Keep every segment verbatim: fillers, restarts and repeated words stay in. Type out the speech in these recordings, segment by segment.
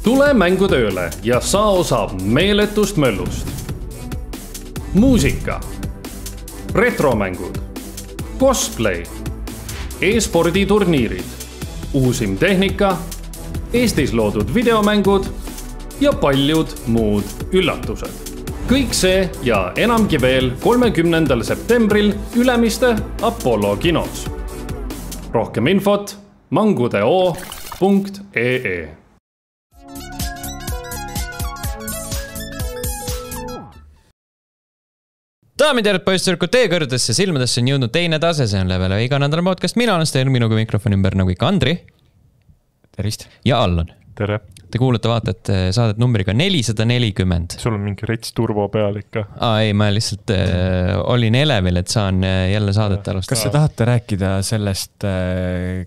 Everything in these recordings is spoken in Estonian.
Tule mängutööle ja saa osa meeletust möllust. Muusika, retromängud, cosplay, e-sporditurniirid, uusim tehnika, Eestis loodud videomängud ja paljud muud üllatused. Kõik see ja enamgi veel kolmekümnendal septembril Ülemiste Apollo kinos. Rohkem infot mangudeo punkt ee. Daamid ja poisssõrkud, teie kõrgedesse silmadesse on jõudnud teine tase, see on Level iga nädala podcast. Mina olen Sten, minuga mikrofoni ümber nagu ikka Andri. Tervist. Ja Allan. Tere. Te kuulete vaatate saadet numbriga nelisada nelikümmend. Sul on mingi rets turbo peal ikka. Aa, ei, ma lihtsalt äh, olin elevil, et saan jälle saadet alustada. Kas te tahate rääkida sellest,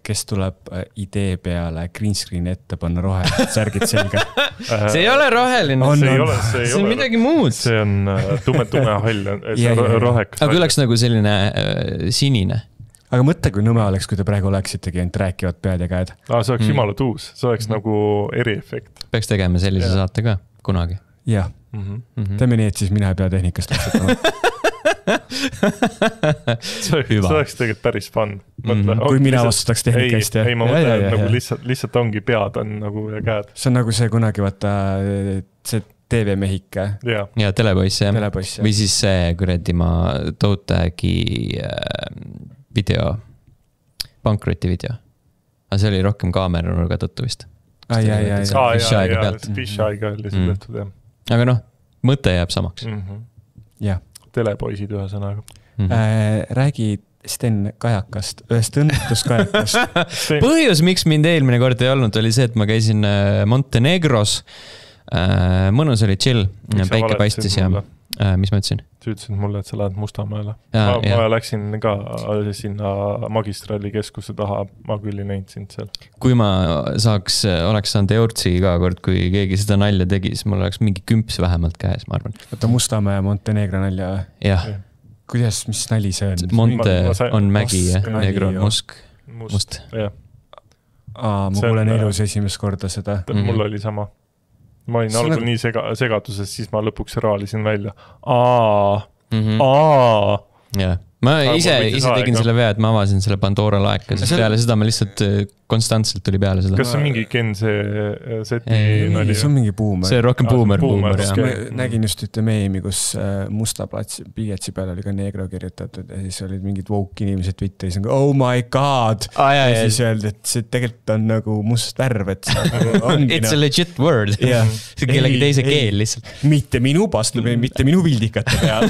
kes tuleb idee peale green screen ette panna rohelised särgid selga? See ei ole roheline. On, see, on. ei ole, see, ei see on ole. midagi muud. See on tume, tume hall. See ja, ja, rohekas. Aga oleks nagu selline äh, sinine. Aga mõtle, kui nõme oleks, kui te praegu oleksitegi ainult rääkivad pead ja käed. Aa, see oleks mm. jumala tuus. See oleks mm. nagu eriefekt. Peaks tegema sellise ja. Saate ka kunagi. Jah. Mm-hmm. Mm-hmm. Teeme nii, et siis mina ei pea tehnikast otsutama. see, see oleks tegelikult päris fun. Mõtle, mm-hmm. Kui mina vastutaks tehnikast. Ei, ei ma mõtlen, et nagu lihtsalt, lihtsalt ongi pead on nagu ja käed. See on nagu see kunagi vaata see T V-mehike. Ja, ja telepoiss, jah. Telepoiss, või siis see kuradi ma Toutagi äh, video, pankroti video. Aga see oli rohkem kaamera nurga tõttu vist. Ai, ai, ai. Fish-aiga pealt. Fish-aiga oli see tehtud, jah. Aga noh, mõte jääb samaks. Mm-hmm. Jah. Telepoisid ühe sõnaga. Mm-hmm. Äh, räägi Sten kajakast, ühest õnnetuskajakast. Põhjus, miks mind eelmine kord ei olnud, oli see, et ma käisin Montenegros. Äh, mõnus oli chill, päike paistis ja äh, mis ma ütlesin? Sa ütlesid mulle, et sa lähed Mustamäele. Ja, ma, ma läksin ka sinna magistraali keskuse taha, ma küll ei näinud sind seal. Kui ma saaks, oleks saanud Eurtsi iga kord, kui keegi seda nalja tegi, siis mul oleks mingi kümps vähemalt käes, ma arvan. Võtta Mustamäe ja Montenegro nalja. Jah. Kuidas, mis nali see on? Monte ma, ma sain, on mägi ja Negro on musk. Must, must. jah. Aa, ma kuulen elus esimest korda seda. Mul mm-hmm. oli sama. Ma olin algul nagu... nii sega, segaduses, siis ma lõpuks raalisin välja. Aa, mm-hmm. aa. Yeah. Ma aga ise, ise tegin selle vea, et ma avasin selle Pandora laeka, sest see... peale seda ma lihtsalt konstantselt tuli peale seda. Kas see on mingi Ken see seti nali? See on mingi buumer. See on rohkem buumer, buumer, jah. Ma nägin just ühte meemi, kus musta platsi piietsi peale oli ka Negro kirjutatud ja siis olid mingid woke inimesed Twitteris, oh my god! Ah, jah, ja siis öeldi, et see tegelikult on nagu must värv, et see ongi. It's a legit word. Yeah. See on kellegi teise ei, keel lihtsalt. Mitte minu pastlumi, mitte minu vildikate peal.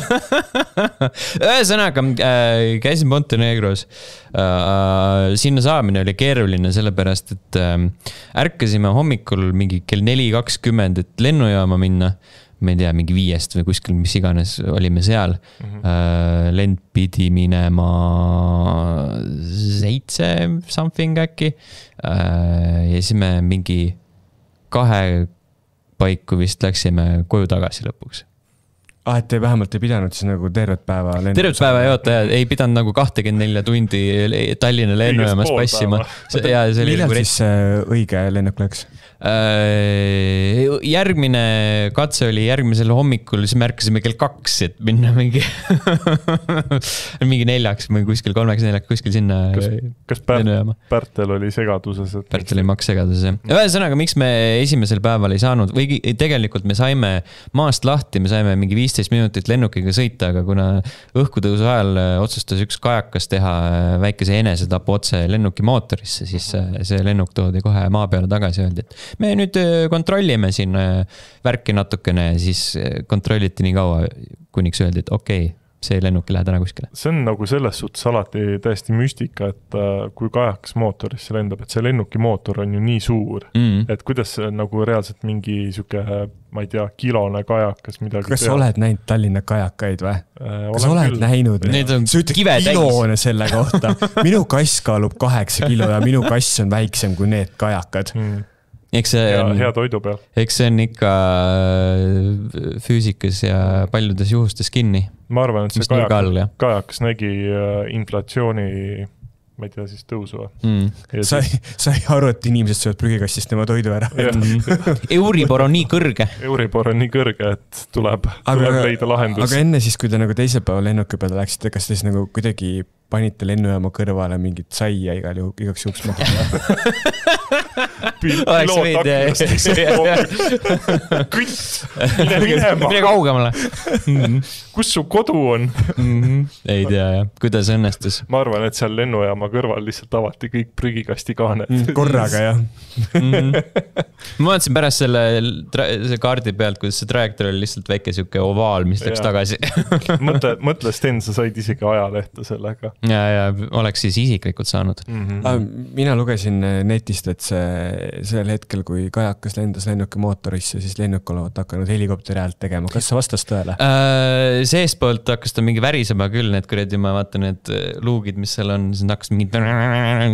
Ühesõnaga, äh, käisin Montenegros. Äh, sinna saamine oli keeruline sellepärast, et äh, ärkasime hommikul mingi kell neli kakskümmend, et lennujaama minna. Ma ei tea, mingi viiest või kuskil, mis iganes olime seal. Mm-hmm. Äh, lend pidi minema seitse something äkki. Äh, ja siis me mingi kahe paiku vist läksime koju tagasi lõpuks. Ah, et te vähemalt ei pidanud siis nagu tervet päeva lennu. Tervet päeva ei oota, ei pidanud nagu kakskümmend neli tundi Tallinna lennujaamas passima. Millal siis õige lennuk läks? Järgmine katse oli järgmisel hommikul, siis märkasime kell kaks, et minna mingi mingi neljaks või kuskil kolmeks neljaks kuskil sinna. Kas, kas Pärt, Pärtel oli segaduses? Pärtel oli maks segaduses. Ühesõnaga, miks me esimesel päeval ei saanud või tegelikult me saime maast lahti, me saime mingi viisteist minutit lennukiga sõita, aga kuna õhkutõusu ajal otsustas üks kajakas teha väikese enesetapu otse lennuki mootorisse, siis see lennuk toodi kohe maa peale tagasi öeldi, et me nüüd kontrollime siin värki natukene, siis kontrolliti nii kaua, kuniks öeldi, et okei, okay, see lennuk ei lähe täna kuskile. See on nagu selles suhtes alati täiesti müstika, et kui kajakas mootorisse lendab, et see lennuki mootor on ju nii suur, mm. et kuidas nagu reaalselt mingi siuke, ma ei tea, kilone kajakas midagi Kas teha. Oled näinud Tallinna kajakaid või? Äh, Kas oled küll. Näinud? Need on kive kiloone selle kohta. Minu kass kaalub kaheksa kilo ja minu kass on väiksem kui need kajakad. Mm. Eks see ja on, hea toidu peal. Eks see on ikka füüsikas ja paljudes juhustes kinni. Ma arvan, et see kajak, kajakas nägi inflatsiooni ma ei tea, siis tõusu. Mm. Sa, sa ei aru, et inimesed söövad prügikastist tema toidu ära. Euribor on nii kõrge. Euribor on nii kõrge, et tuleb, aga, tuleb leida lahendus. Aga enne siis, kui te nagu teisel päeval lennuki peale läksite, kas te siis nagu kuidagi panite lennujaama kõrvale mingit saia igal juhu, igaks juhuks maha? Oleks võid, kütt, mine minema. Mine kaugemale. Kus su kodu on? Ei tea, jah. Kuidas õnnestus? Ma arvan, et seal lennujaama kõrval lihtsalt avati kõik prügikasti kaaned. Korraga, jah. Ma vaatasin pärast selle, selle kaardi pealt, kuidas see trajektoor oli lihtsalt väike siuke ovaal, mis läks tagasi. mõtle, mõtle Sten, sa said isegi ajalehte sellega. Ja, ja oleks siis isiklikult saanud. Mm-hmm. Mina lugesin netist, et see, sellel hetkel, kui kajakas lendas lennuki mootorisse, siis lennuk olevat hakanud helikopteri häält tegema. Kas see vastas tõele? Äh, seespoolt hakkas ta mingi värisema küll, need kuredi, ma vaatan need luugid, mis seal on, siis hakkas mingi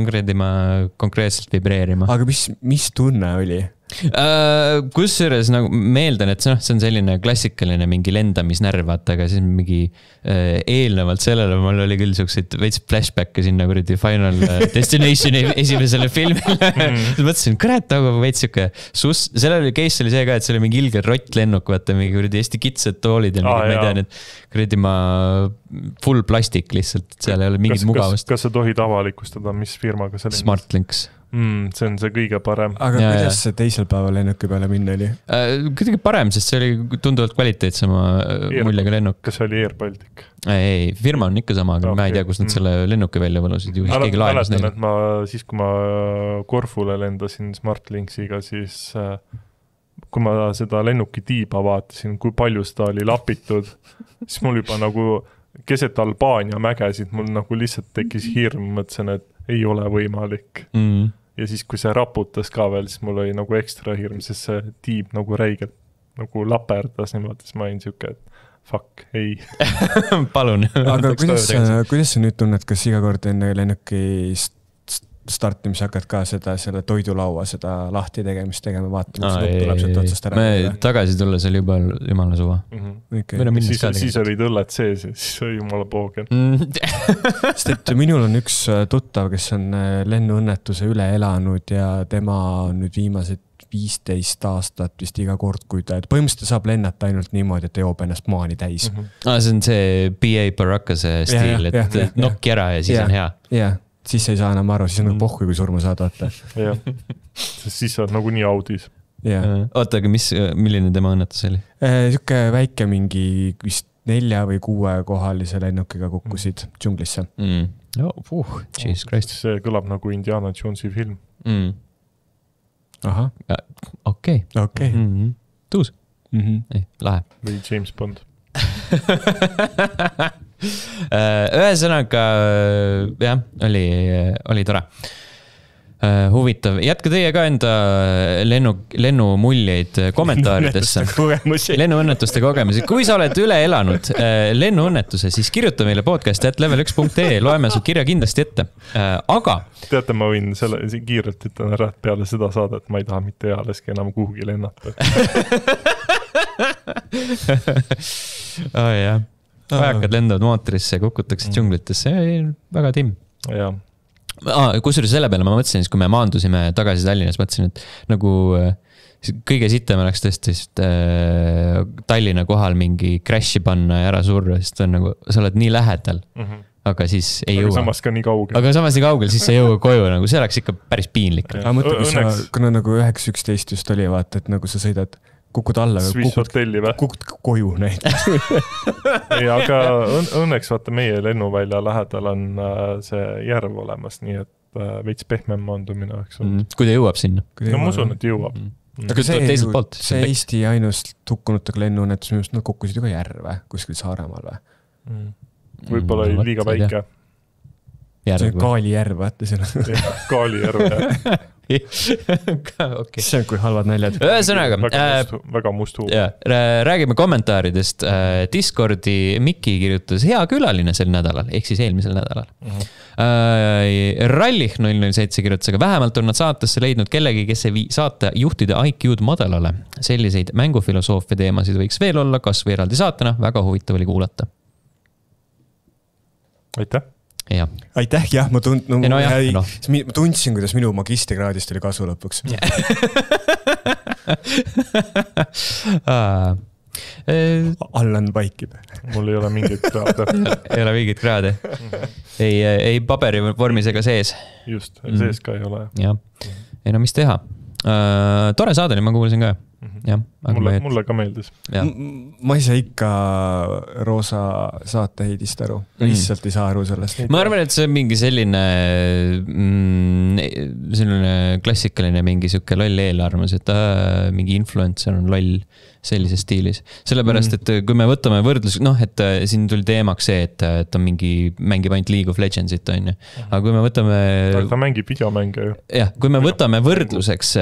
kuredi ma konkreetselt vibreerima. Aga mis, mis tunne oli? Uh, kusjuures nagu meeldan, et see, no, see on selline klassikaline mingi lendamisnärv, vaata, aga siis mingi uh, eelnevalt sellele mul oli küll siukseid veits flashbacke sinna kuradi Final Destinationi esimesele filmile. Mm. mõtlesin, kurat, nagu veits siuke sus, sellel oli case oli see ka, et see oli mingi ilge rott lennuk, vaata, mingi kuradi Eesti kitsed toolid ja mingi, ah, ma ei tea, need kuradi ma full plastik lihtsalt, seal ei ole mingit kas, mugavust. Kas, kas sa tohid avalikustada, mis firmaga see lendas? Smartlinks. Mm, see on see kõige parem. Aga ja, kuidas see teisel päeval lennuki peale minna oli? Uh, kuidagi parem, sest see oli tunduvalt kvaliteetsema Air, muljega lennuk. Kas see oli Air Baltic? Ei, firma on ikka sama, aga okay. Ma ei tea, kus nad selle lennuki välja võlusid. Ju keegi laenas neile. Ma, siis, kui ma Korfule lendasin Smartlinksiga, siis kui ma seda lennuki tiiba vaatasin, kui palju seda oli lapitud, siis mul juba nagu keset Albaania mägesid, mul nagu lihtsalt tekkis hirm, mõtlesin, et ei ole võimalik. Mm. Ja siis, kui see raputas ka veel, siis mul oli nagu ekstra hirm, sest see tiib nagu räigelt nagu laperdas niimoodi, siis ma olin siuke, et fuck, ei. Palun. Aga kuidas, kuidas sa nüüd tunned, kas iga kord enne lennuki startimis hakkad ka seda, selle toidulaua, seda lahti tegemist tegema, vaatama, mis lõpp tuleb sealt otsast ära. Me tagasi tulla, see oli juba jumala suva. Mm-hmm. Okay. Siis, siis olid õlled sees ja siis oli jumala poogen. Sest et minul on üks tuttav, kes on lennuõnnetuse üle elanud ja tema on nüüd viimased viisteist aastat vist iga kord, kui ta, põhimõtteliselt saab lennata ainult niimoodi, et ta joob ennast maani täis. Mm-hmm. Ah, see on see B A Barakase stiil, ja, ja, et ja, nokki ära ja siis ja, on hea. Jah. Siis ei saa enam aru, siis on nagu pohku, kui surma saad, vaata. Jah, sest siis saad nagu nii audis. Yeah. Oota, aga mis, milline tema õnnetus oli? Siuke väike mingi vist nelja või kuue kohalise lennukiga kukkusid mm. džunglisse. Mm. Oh, uh, Jesus Christ. See kõlab nagu Indiana Jonesi film. Mm. Aha. Okei. Okay. Okay. Mm-hmm. Tuus. Mm-hmm. Ei, lahe. Või James Bond. Ühesõnaga, jah, oli, oli tore. Huvitav. Jätka teie ka enda lennu, lennumuljeid kommentaaridesse. Lennuõnnetuste kogemusi. Kui sa oled üle elanud lennuõnnetuse, siis kirjuta meile podcast at level üks punkt ee. Loeme su kirja kindlasti ette. Aga... Teate, ma võin selle kiirelt ütlen ära, et peale seda saadet ma ei taha mitte ealeski enam kuhugi lennata. Oh, jah. Vajakad lendavad mootorisse, kukutakse mm. džunglitesse. Väga timm. Jah. Ah, kusjuures selle peale ma mõtlesin, kui me maandusime tagasi Tallinnas, mõtlesin, et nagu kõige sitem oleks tõesti äh, Tallinna kohal mingi crash'i panna ja ära surra, sest on nagu, sa oled nii lähedal, mm-hmm. aga siis ei aga jõua. Samas ka nii kaugel. Aga samas nii kaugel, siis sa ei jõua koju, nagu see oleks ikka päris piinlik. Aga mõtle, kui sa, kuna nagu üheksa üksteist just oli, vaata, et nagu sa sõidad kukud alla, kukud, kukud koju näiteks. Ei, aga õn, õnneks vaata meie lennuvälja lähedal on see järv olemas, nii et veits pehmem maandumine oleks olnud. Mm, kui ta jõuab sinna. No ma usun, et jõuab. Mm. Aga see, poolt, see Eesti ainus hukkunutega lennuõnnetus, minu nad kukkusid ju ka järve kuskil Saaremaal või? Mm. Võib-olla oli liiga väike. See on Kaali järv, vaata selle. Kaali järv, jah. Okay. See on kui halvad näljad. Ühesõnaga, väga mustu, väga mustu. Jah, räägime kommentaaridest. Discordi Mikki kirjutas hea külaline sel nädalal, ehk siis eelmisel nädalal. Uh-huh. Rallih null null seitse kirjutas, aga vähemalt on nad saatesse leidnud kellegi, kes ei vii saate juhtide I Q-d madalale. Selliseid mängufilosoofia teemasid võiks veel olla, kas või eraldi saatena. Väga huvitav oli kuulata. Aitäh. jah. Aitäh, jah, ma, tund, no, no, jah, jäi, no. ma tundsin, kuidas minu magistrikraadist oli kasu lõpuks. Allan vaikib. Mul ei ole mingit kraade. ei ole mingit kraade. ei, ei paberi vormis ega sees. Just, sees ka ei ole. Jah. Ei no mis teha. Uh, tore saade oli, ma kuulsin ka. Ja, mulle, et... mulle ka meeldis. Ma ei saa ikka Roosa saate heidist aru. Lihtsalt ei saa aru sellest. Ma arvan, et see on mingi selline mm, selline klassikaline mingi siuke loll eelarvamus, et äh, mingi influencer on loll sellises stiilis. Sellepärast, et kui me võtame võrdlus, noh, et siin tuli teemaks see, et, et on mingi, mängib ainult League of Legendsit, on ju. Aga kui me võtame... ta mängib videomänge ju. Jah, kui me võtame võrdluseks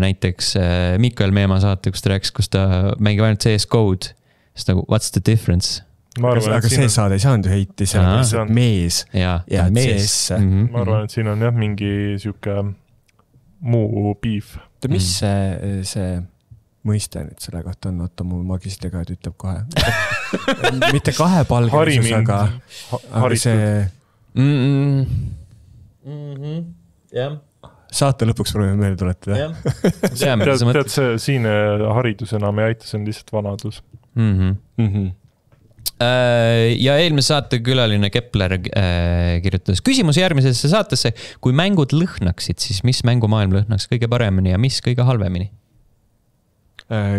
näiteks Mikael Meemaa saate, kus ta rääkis, kus ta mängib ainult C S G-d, siis nagu, what's the difference? Arvan, aga see on... saade ei saanud ju heiti, sellepärast on... mees ja, ja mees. C S. Mm-hmm. Ma arvan, et siin on jah mingi siuke muu beef. Mis see... see... mõiste nüüd selle kohta on, oota mu magistriga ütleb kohe. Mitte kahepalgelisus, aga, aga see... Mm-hmm. Mm-hmm. Yeah. Saate lõpuks proovime meelde tuletada. Yeah. tead, tead see siin haridus enam ei aita, see on lihtsalt vanadus. Mm-hmm. Mm-hmm. Ja eelmise saate külaline Kepler kirjutas küsimuse järgmisesse saatesse. Kui mängud lõhnaksid, siis mis mängumaailm lõhnaks kõige paremini ja mis kõige halvemini?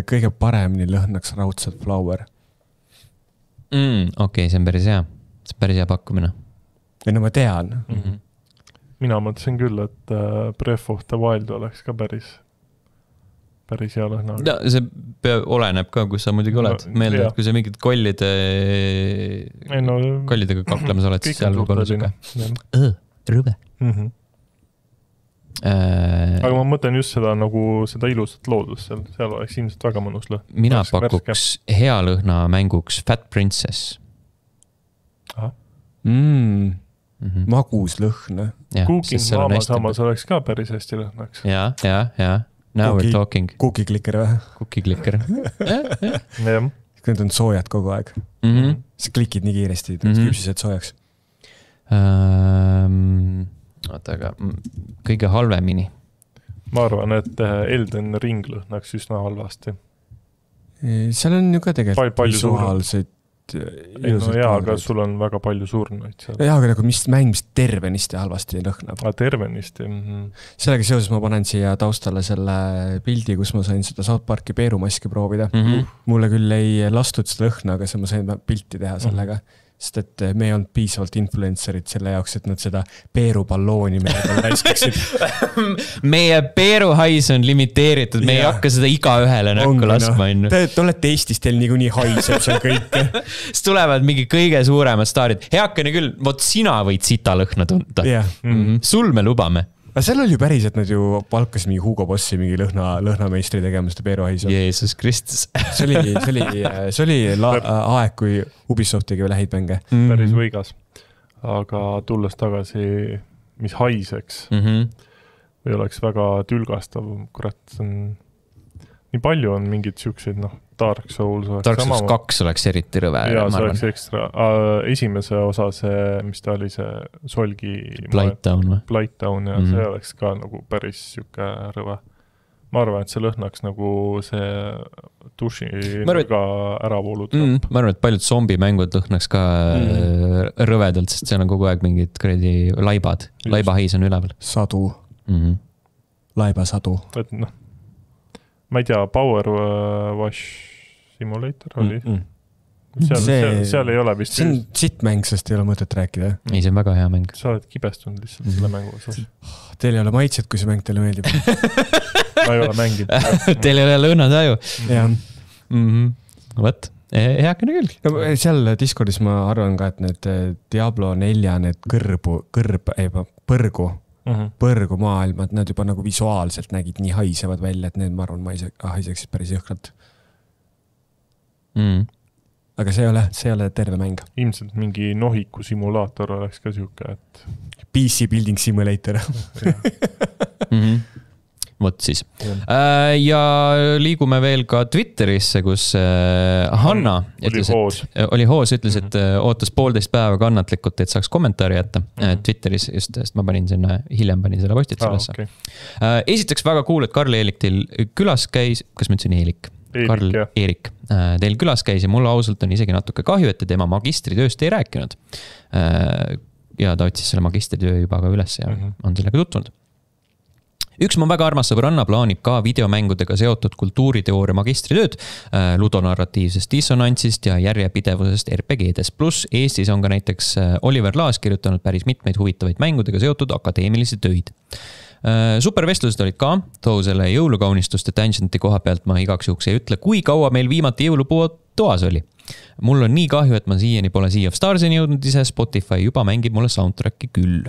Kõige paremini lõhnaks raudselt Flower. Mm, okei, okay, see on päris hea. See on päris hea pakkumine. Ja no ma tean. Mm-hmm. Mina mõtlesin küll, et Breath of the Wild oleks ka päris, päris hea lõhna. No, see pea, oleneb ka, kus sa muidugi oled. No, meelde, et kui sa mingid kollide, no, kollidega kaklemas oled, siis seal võib olla suke. Rõve. Mhm. Aga ma mõtlen just seda nagu seda ilusat loodust seal, seal oleks ilmselt väga mõnus lõhn. Mina pakuks hea lõhna mänguks Fat Princess. Mm. Mm-hmm. Magus lõhn. Cooking Mama samas oleks ka päris hästi lõhnaks. Ja, ja, ja. Now Cookie, we're talking. Cookie klikker või? Cookie klikker. Jah. Need on soojad kogu aeg. Mm-hmm. Sa klikid nii kiiresti, mm-hmm. küpsised soojaks. Um... Oota, aga kõige halvemini. Ma arvan, et Elden Ring lõhnaks üsna halvasti. Seal on ju ka tegelikult Pal visuaalseid ei, no jaa, aga sul on väga palju surnuid seal. Jaa, aga nagu mis mäng, mis tervenisti halvasti lõhnab. A, tervenisti. Mm-hmm. Sellega seoses ma panen siia taustale selle pildi, kus ma sain seda South Parki peerumaski proovida. Mm-hmm. Mulle küll ei lastud seda lõhna, aga ma sain pilti teha sellega. Mm-hmm. Sest et me ei olnud piisavalt influencerid selle jaoks, et nad seda peerupallooni meile läiskaksid. Meie peeruhais on limiteeritud, me ja. Ei hakka seda iga ühele näkku laskma. No. Te, te olete Eestis, teil niikuinii haiseb seal kõik. Siis tulevad mingi kõige suuremad staarid. Heakene küll, vot sina võid sita lõhna tunda. Yeah. Mm-hmm. Sul me lubame. Aga seal oli ju päris, et nad ju palkas mingi Hugo Bossi mingi lõhna, lõhnameistri tegema seda peeruhaisu. Jeesus Kristus. See oli, see oli, see oli la, aeg, kui Ubisoft tegi veel häid mänge. Mm-hmm. Päris võigas. Aga tulles tagasi, mis haiseks, mm-hmm. või oleks väga tülgastav, kurat, see on... Nii palju on mingid siukseid, noh, Dark Souls oleks Dark Souls kaks oleks eriti rõve. Jaa, see oleks ekstra. Esimese osa see, mis ta oli see Solgi... Blighttown või? Blighttown, ja mm-hmm. see oleks ka nagu päris siuke rõve. Ma arvan, et see lõhnaks nagu see duši arvan, ka ära voolud. Mm, ma arvan, et paljud zombimängud lõhnaks ka mm. rõvedalt, sest seal on kogu aeg mingid kredi laibad. Just. Laibahais on üleval. Sadu. Mm-hmm. Laibasadu. Et noh, ma ei tea, Power Wash Simulator oli. Mm-mm. Seal, see, seal, seal ei ole vist... See on sitt mäng, sest ei ole mõtet rääkida. Ei, see on väga hea mäng. Sa oled kibestunud lihtsalt mm-hmm. selle mängu osas. Teil ei ole maitset, kui see mäng teile meeldib. Ma ei ole mängid. Teil ei ole lõhnataju. Jah. Mm-hmm. Võt, heakene küll. No, seal Discordis ma arvan ka, et need Diablo nelja, need kõrbu, kõrb, ei, põrgu, mm-hmm. põrgu maailmad, nad juba nagu visuaalselt nägid nii haisevad välja, et need, ma arvan, ma haiseksid päris jõhkralt. Mm. Aga see ei ole, see ei ole terve mäng. Ilmselt mingi nohiku simulaator oleks ka siuke, et... P C Building Simulator. mm-hmm. Vot siis. Ja liigume veel ka Twitterisse, kus Hanna oli ütles, hoos, et, oli hoos, ütles, et ootas poolteist päeva kannatlikult, et saaks kommentaari jätta Twitteris, just sest ma panin sinna, hiljem panin selle postit sellesse. Ah, okay. Esiteks väga cool, et Karl Eelik teil külas käis, kas ma ütlesin Eelik? Eelik, Karl jah. Eerik teil külas käis ja mulle ausalt on isegi natuke kahju, et te tema magistritööst ei rääkinud. Ja ta otsis selle magistritöö juba ka üles ja mm-hmm. on sellega tutvunud. Üks mu väga armas sõbranna plaanib ka videomängudega seotud kultuuriteooria magistritööd ludonarratiivsest dissonantsist ja järjepidevusest R P G-des. Plus Eestis on ka näiteks Oliver Laas kirjutanud päris mitmeid huvitavaid mängudega seotud akadeemilisi töid. Supervestlused olid ka, too selle jõulukaunistuste tangenti koha pealt ma igaks juhuks ei ütle, kui kaua meil viimati jõulupuu toas oli. Mul on nii kahju, et ma siiani pole Sea of Starsini jõudnud ise, Spotify juba mängib mulle soundtracki küll.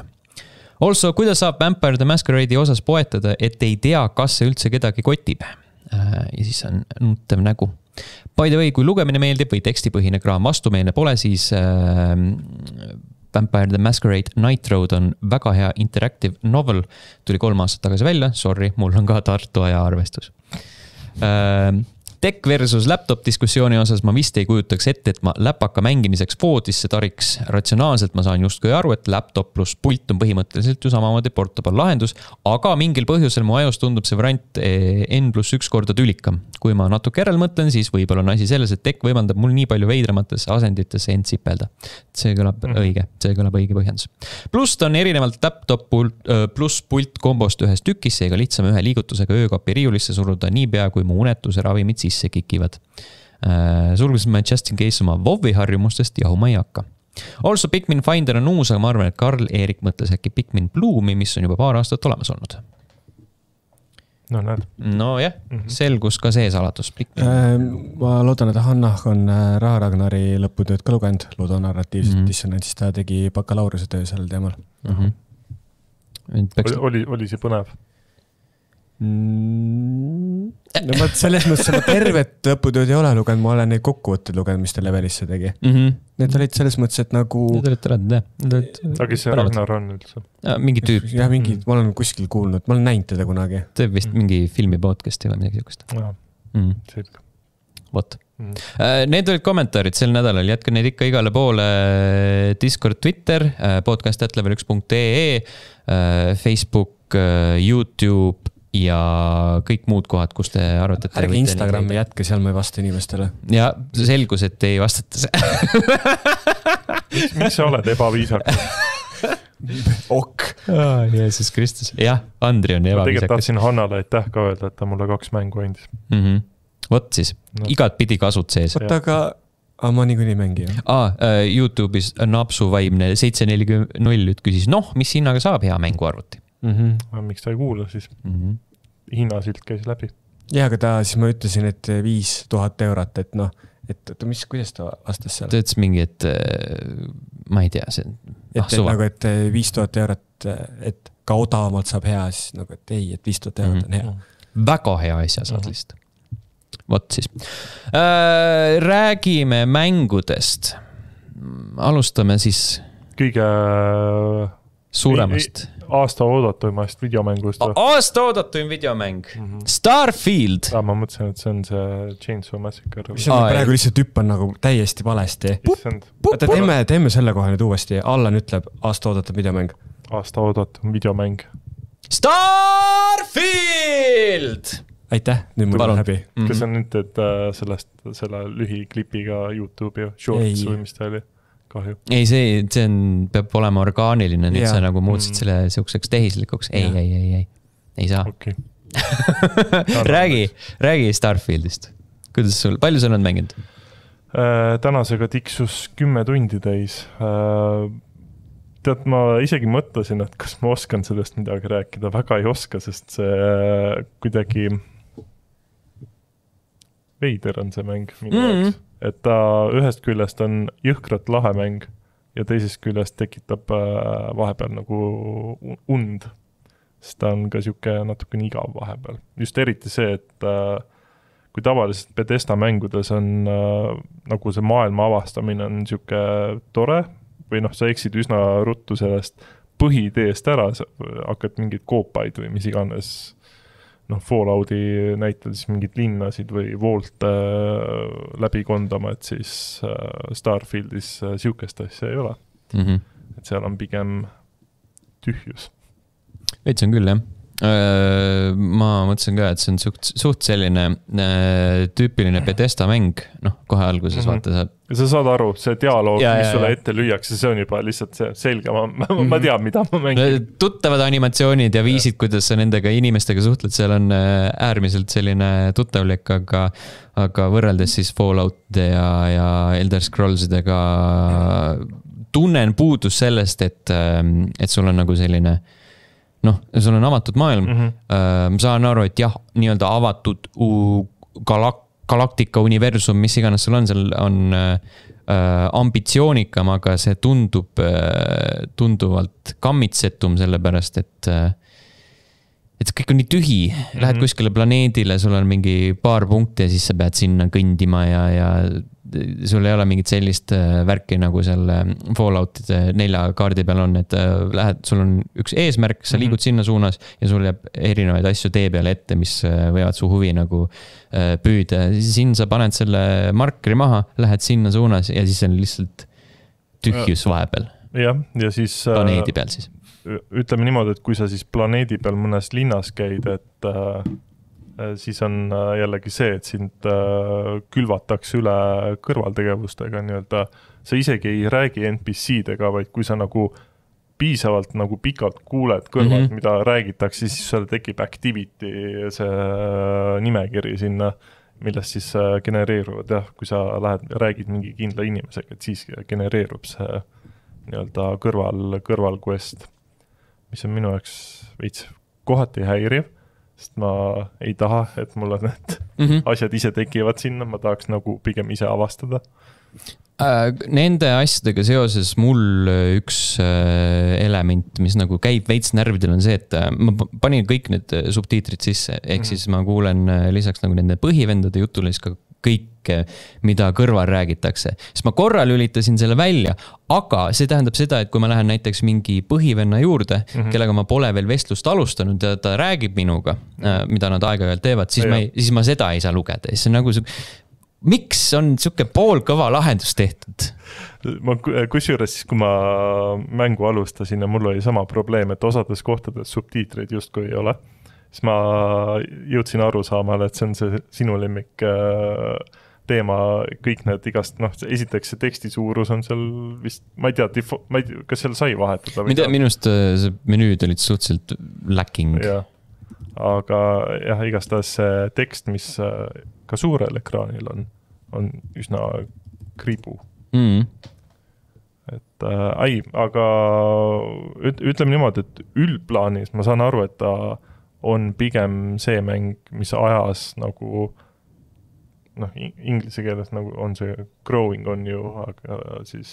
Also, kuidas saab Vampire the Masquerade'i osas poetada, et ei tea, kas see üldse kedagi kotib? Ja siis on nutev nägu. By the way, kui lugemine meeldib või tekstipõhine kraam vastumeelne pole, siis äh, Vampire the Masquerade Night Road on väga hea interactive novel. Tuli kolm aastat tagasi välja, sorry, mul on ka Tartu aja arvestus. Äh, Tech versus laptop diskussiooni osas ma vist ei kujutaks ette, et ma läpaka mängimiseks voodisse tariks. Ratsionaalselt ma saan justkui aru, et laptop plus pult on põhimõtteliselt ju samamoodi portable lahendus, aga mingil põhjusel mu ajus tundub see variant N plus üks korda tülikam. Kui ma natuke järel mõtlen, siis võib-olla on asi selles, et Tech võimaldab mul nii palju veidramatesse asenditesse end sipelda. See kõlab mm. õige, see kõlab õige põhjendus. Plus ta on erinevalt laptop plus pult kombost ühes tükis, seega lihtsam ühe liigutusega öökapi riiulisse suruda niipea, kui mu unetuse ravimid sisse see kikivad. Sulguses ma just in case oma WoW-i harjumustest jahuma ei hakka. Also Pikmin Finder on uus, aga ma arvan, et Karl Eerik mõtles äkki Pikmin Bloomi, mis on juba paar aastat olemas olnud. No näed. No jah, selgus ka see salatus. Äh, ma loodan, et Hanna on Raha Ragnari lõputööd ka lugenud, ludonarratiivsest mm-hmm. dissonantsist, ta tegi bakalaureuse töö sellel teemal. Mm-hmm. Oli, oli, oli see põnev? Mm, no ma selles mõttes ma tervet lõputööd ei ole lugenud, ma olen neid kokkuvõtteid lugenud, mis ta Levelisse tegi. Mm-hmm. Need olid selles mõttes, et nagu... Need olid tõrad, jah. Aga see Ragnar on üldse? Ja, mingi tüüp. Ja, mingi, ma olen kuskil kuulnud, ma olen näinud teda kunagi. See vist mm. mingi filmi podcasti või midagi siukest. Ja, mm. selge. Vot. Mm. Need olid kommentaarid sel nädalal, jätke neid ikka igale poole Discord, Twitter, podcast at level üks punkt ee, Facebook, YouTube ja kõik muud kohad, kus te arvate, et... Ärge Instagrami jätke, seal ma ei vasta inimestele. Ja selgus, et ei vastata miks, miks sa oled ebaviisakas? Ok. Oh, Jeesus Kristus. Jah, Andri on ebaviisakas. Ma tegelikult tahtsin Hannale aitäh ka öelda, et ta mulle kaks mängu andis. Mm-hmm. Vot siis, no. Igat pidi kasut sees. Vot aga, aga ma nii kuni mängi. Ah, YouTube'is Napsu vaimne seitse nelikümmend null küsis, noh, mis hinnaga saab hea mängu arvuti? Mm-hmm. Miks ta ei kuula siis? Mm-hmm. Hinnasilt käis läbi. Ja, aga ta, siis ma ütlesin, et viis tuhat eurot, et noh, et mis, kuidas ta vastas seal? Ta ütles mingi, et ma ei tea, see on et, ah, suva. Nagu, et viis tuhat eurot, et ka odavamalt saab hea, siis nagu, et ei, et viis tuhat eurot on hea. Mm-hmm. Väga hea asja saad mm-hmm. lihtsalt. Vot siis. Äh, räägime mängudest. Alustame siis... Kõige... Suuremast. Aasta oodatumast videomängust. Aasta oodatum videomäng. Mm-hmm. Starfield. Ja, ma mõtlesin, et see on see Chainsaw Massacre. Mis on praegu lihtsalt hüppan nagu täiesti valesti. Oota, teeme, teeme selle koha nüüd uuesti. Allan ütleb aasta oodatum videomäng. Aasta oodatum videomäng. Starfield! Aitäh, nüüd mul on häbi. Kas on nüüd, et sellest, selle lühiklipiga YouTube'i shorts või mis ta oli? Kahju. Ei, see, see on, peab olema orgaaniline, nüüd sa nagu muutsid selle siukseks tehislikuks. Ei, ei, ei, ei, ei saa. Okay. räägi, räägi Starfieldist. Kuidas sul, palju sul on mänginud? Äh, tänasega tiksus kümme tundi täis. Äh, tead, ma isegi mõtlesin, et kas ma oskan sellest midagi rääkida. Väga ei oska, sest see kuidagi veider on see mäng minu jaoks. Mm-hmm. Et ta ühest küljest on jõhkrat lahe mäng ja teisest küljest tekitab vahepeal nagu und. Sest ta on ka siuke natuke igav vahepeal. Just eriti see, et kui tavaliselt Bethesda mängudes on nagu see maailma avastamine on siuke tore või noh, sa eksid üsna ruttu sellest põhiideest ära, hakkad mingid koopaid või mis iganes noh, Fallouti näitel siis mingid linnasid või voolte äh, läbi kondama, et siis äh, Starfieldis äh, siukest asja ei ole. Mm-hmm. Et seal on pigem tühjus. Veits on küll, jah. Ma mõtlesin ka, et see on suht, suht selline äh, tüüpiline Bethesda mäng, noh, kohe alguses mm-hmm. vaata saab. Sa saad aru, see dialoog, ja, mis ja, sulle ja. ette lüüakse, see on juba lihtsalt see selge, ma, ma, ma tean, mida ma mängin. Tuttavad animatsioonid ja viisid, kuidas sa nendega inimestega suhtled, seal on äärmiselt selline tuttavlik, aga, aga võrreldes siis Falloutide ja, ja Elder Scrollsidega tunnen puudus sellest, et, et sul on nagu selline noh, sul on avatud maailm. Mm-hmm. Ma saan aru, et jah, nii-öelda avatud galak- galaktika universum, mis iganes sul on, seal on äh, ambitsioonikam, aga see tundub äh, tunduvalt kammitsetum, sellepärast, et äh, et kõik on nii tühi. Lähed mm-hmm. kuskile planeedile, sul on mingi paar punkti ja siis sa pead sinna kõndima ja, ja sul ei ole mingit sellist värki, nagu seal Falloutide nelja kaardi peal on, et lähed, sul on üks eesmärk, sa liigud mm-hmm. sinna suunas ja sul jääb erinevaid asju tee peale ette, mis võivad su huvi nagu püüda. Siin sa paned selle markeri maha, lähed sinna suunas ja siis on lihtsalt tühjus vahepeal. jah, ja siis planeedi peal siis. Ütleme niimoodi, et kui sa siis planeedi peal mõnes linnas käid, et äh, siis on jällegi see, et sind äh, külvatakse üle kõrvaltegevustega nii-öelda. Sa isegi ei räägi N P C-dega, vaid kui sa nagu piisavalt nagu pikalt kuuled kõrvalt, mm-hmm. mida räägitakse, siis seal tekib activity see nimekiri sinna, millest siis genereeruvad. Jah, kui sa lähed, räägid mingi kindla inimesega, et siis genereerub see nii-öelda kõrval, kõrval quest, mis on minu jaoks veits kohati häiriv, sest ma ei taha, et mulle need mm-hmm. asjad ise tekivad sinna, ma tahaks nagu pigem ise avastada. Nende asjadega seoses mul üks element, mis nagu käib veits närvidel, on see, et ma panin kõik need subtiitrid sisse, ehk mm-hmm. siis ma kuulen lisaks nagu nende põhivendade jutule siis ka kõike, mida kõrval räägitakse. Sest ma korra lülitasin selle välja, aga see tähendab seda, et kui ma lähen näiteks mingi põhivenna juurde, mm-hmm. kellega ma pole veel vestlust alustanud ja ta räägib minuga, mm-hmm. mida nad aega-ajalt teevad, siis, ja ma ei, siis ma seda ei saa lugeda. See on nagu su... Miks on siuke poolkõva lahendus tehtud? Ma kusjuures siis, kui ma mängu alustasin ja mul oli sama probleem, et osades kohtades subtiitreid justkui ei ole, siis ma jõudsin aru saamale, et see on see sinu lemmik teema, kõik need igast, noh, esiteks see teksti suurus on seal vist, ma ei tea, tifo, ma ei tea, kas seal sai vahetada? Mida, minust see menüüd olid suhteliselt lacking. Ja. Aga jah, igastahes see tekst, mis ka suurel ekraanil on, on üsna kriibu. Mm. Et äh, ei, aga üt, ütleme niimoodi, et üldplaanis ma saan aru, et ta on pigem see mäng, mis ajas nagu noh, inglise keeles nagu on see growing on ju, aga siis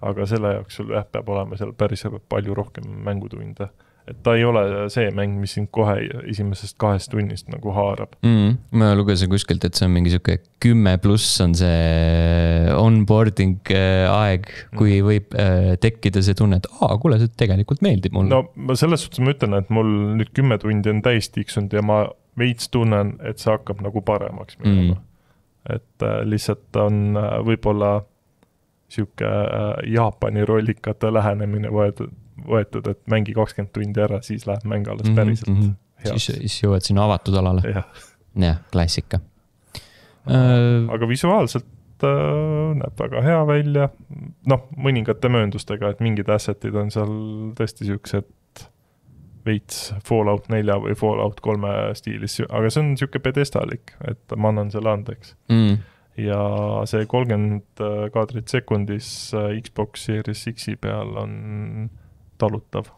aga selle jaoks sul jah, peab olema seal päris palju rohkem mängutunde. Et ta ei ole see mäng, mis sind kohe esimesest kahest tunnist nagu haarab. Mm, ma lugesin kuskilt, et see on mingi siuke kümme pluss on see onboarding aeg, kui võib tekkida see tunne, et aa, kuule, see tegelikult meeldib mulle. No ma selles suhtes ma ütlen, et mul nüüd kümme tundi on täis tiksunud ja ma veits tunnen, et see hakkab nagu paremaks minema. Mm. Et äh, lihtsalt on äh, võib-olla siuke äh, Jaapani rollikate lähenemine võetud, võetud, et mängi kakskümmend tundi ära, siis läheb mäng alles päriselt mm-hmm. siis, siis jõuad sinna avatud alale. Ja, ja klassika. Aga visuaalselt äh, näeb väga hea välja. Noh, mõningate mööndustega, et mingid assetid on seal tõesti siuksed veits Fallout nelja või Fallout kolme stiilis, aga see on siuke pedestalik, et ma annan selle andeks. Mm. Ja see kolmkümmend kaadrit sekundis Xbox Series X-i peal on talutav.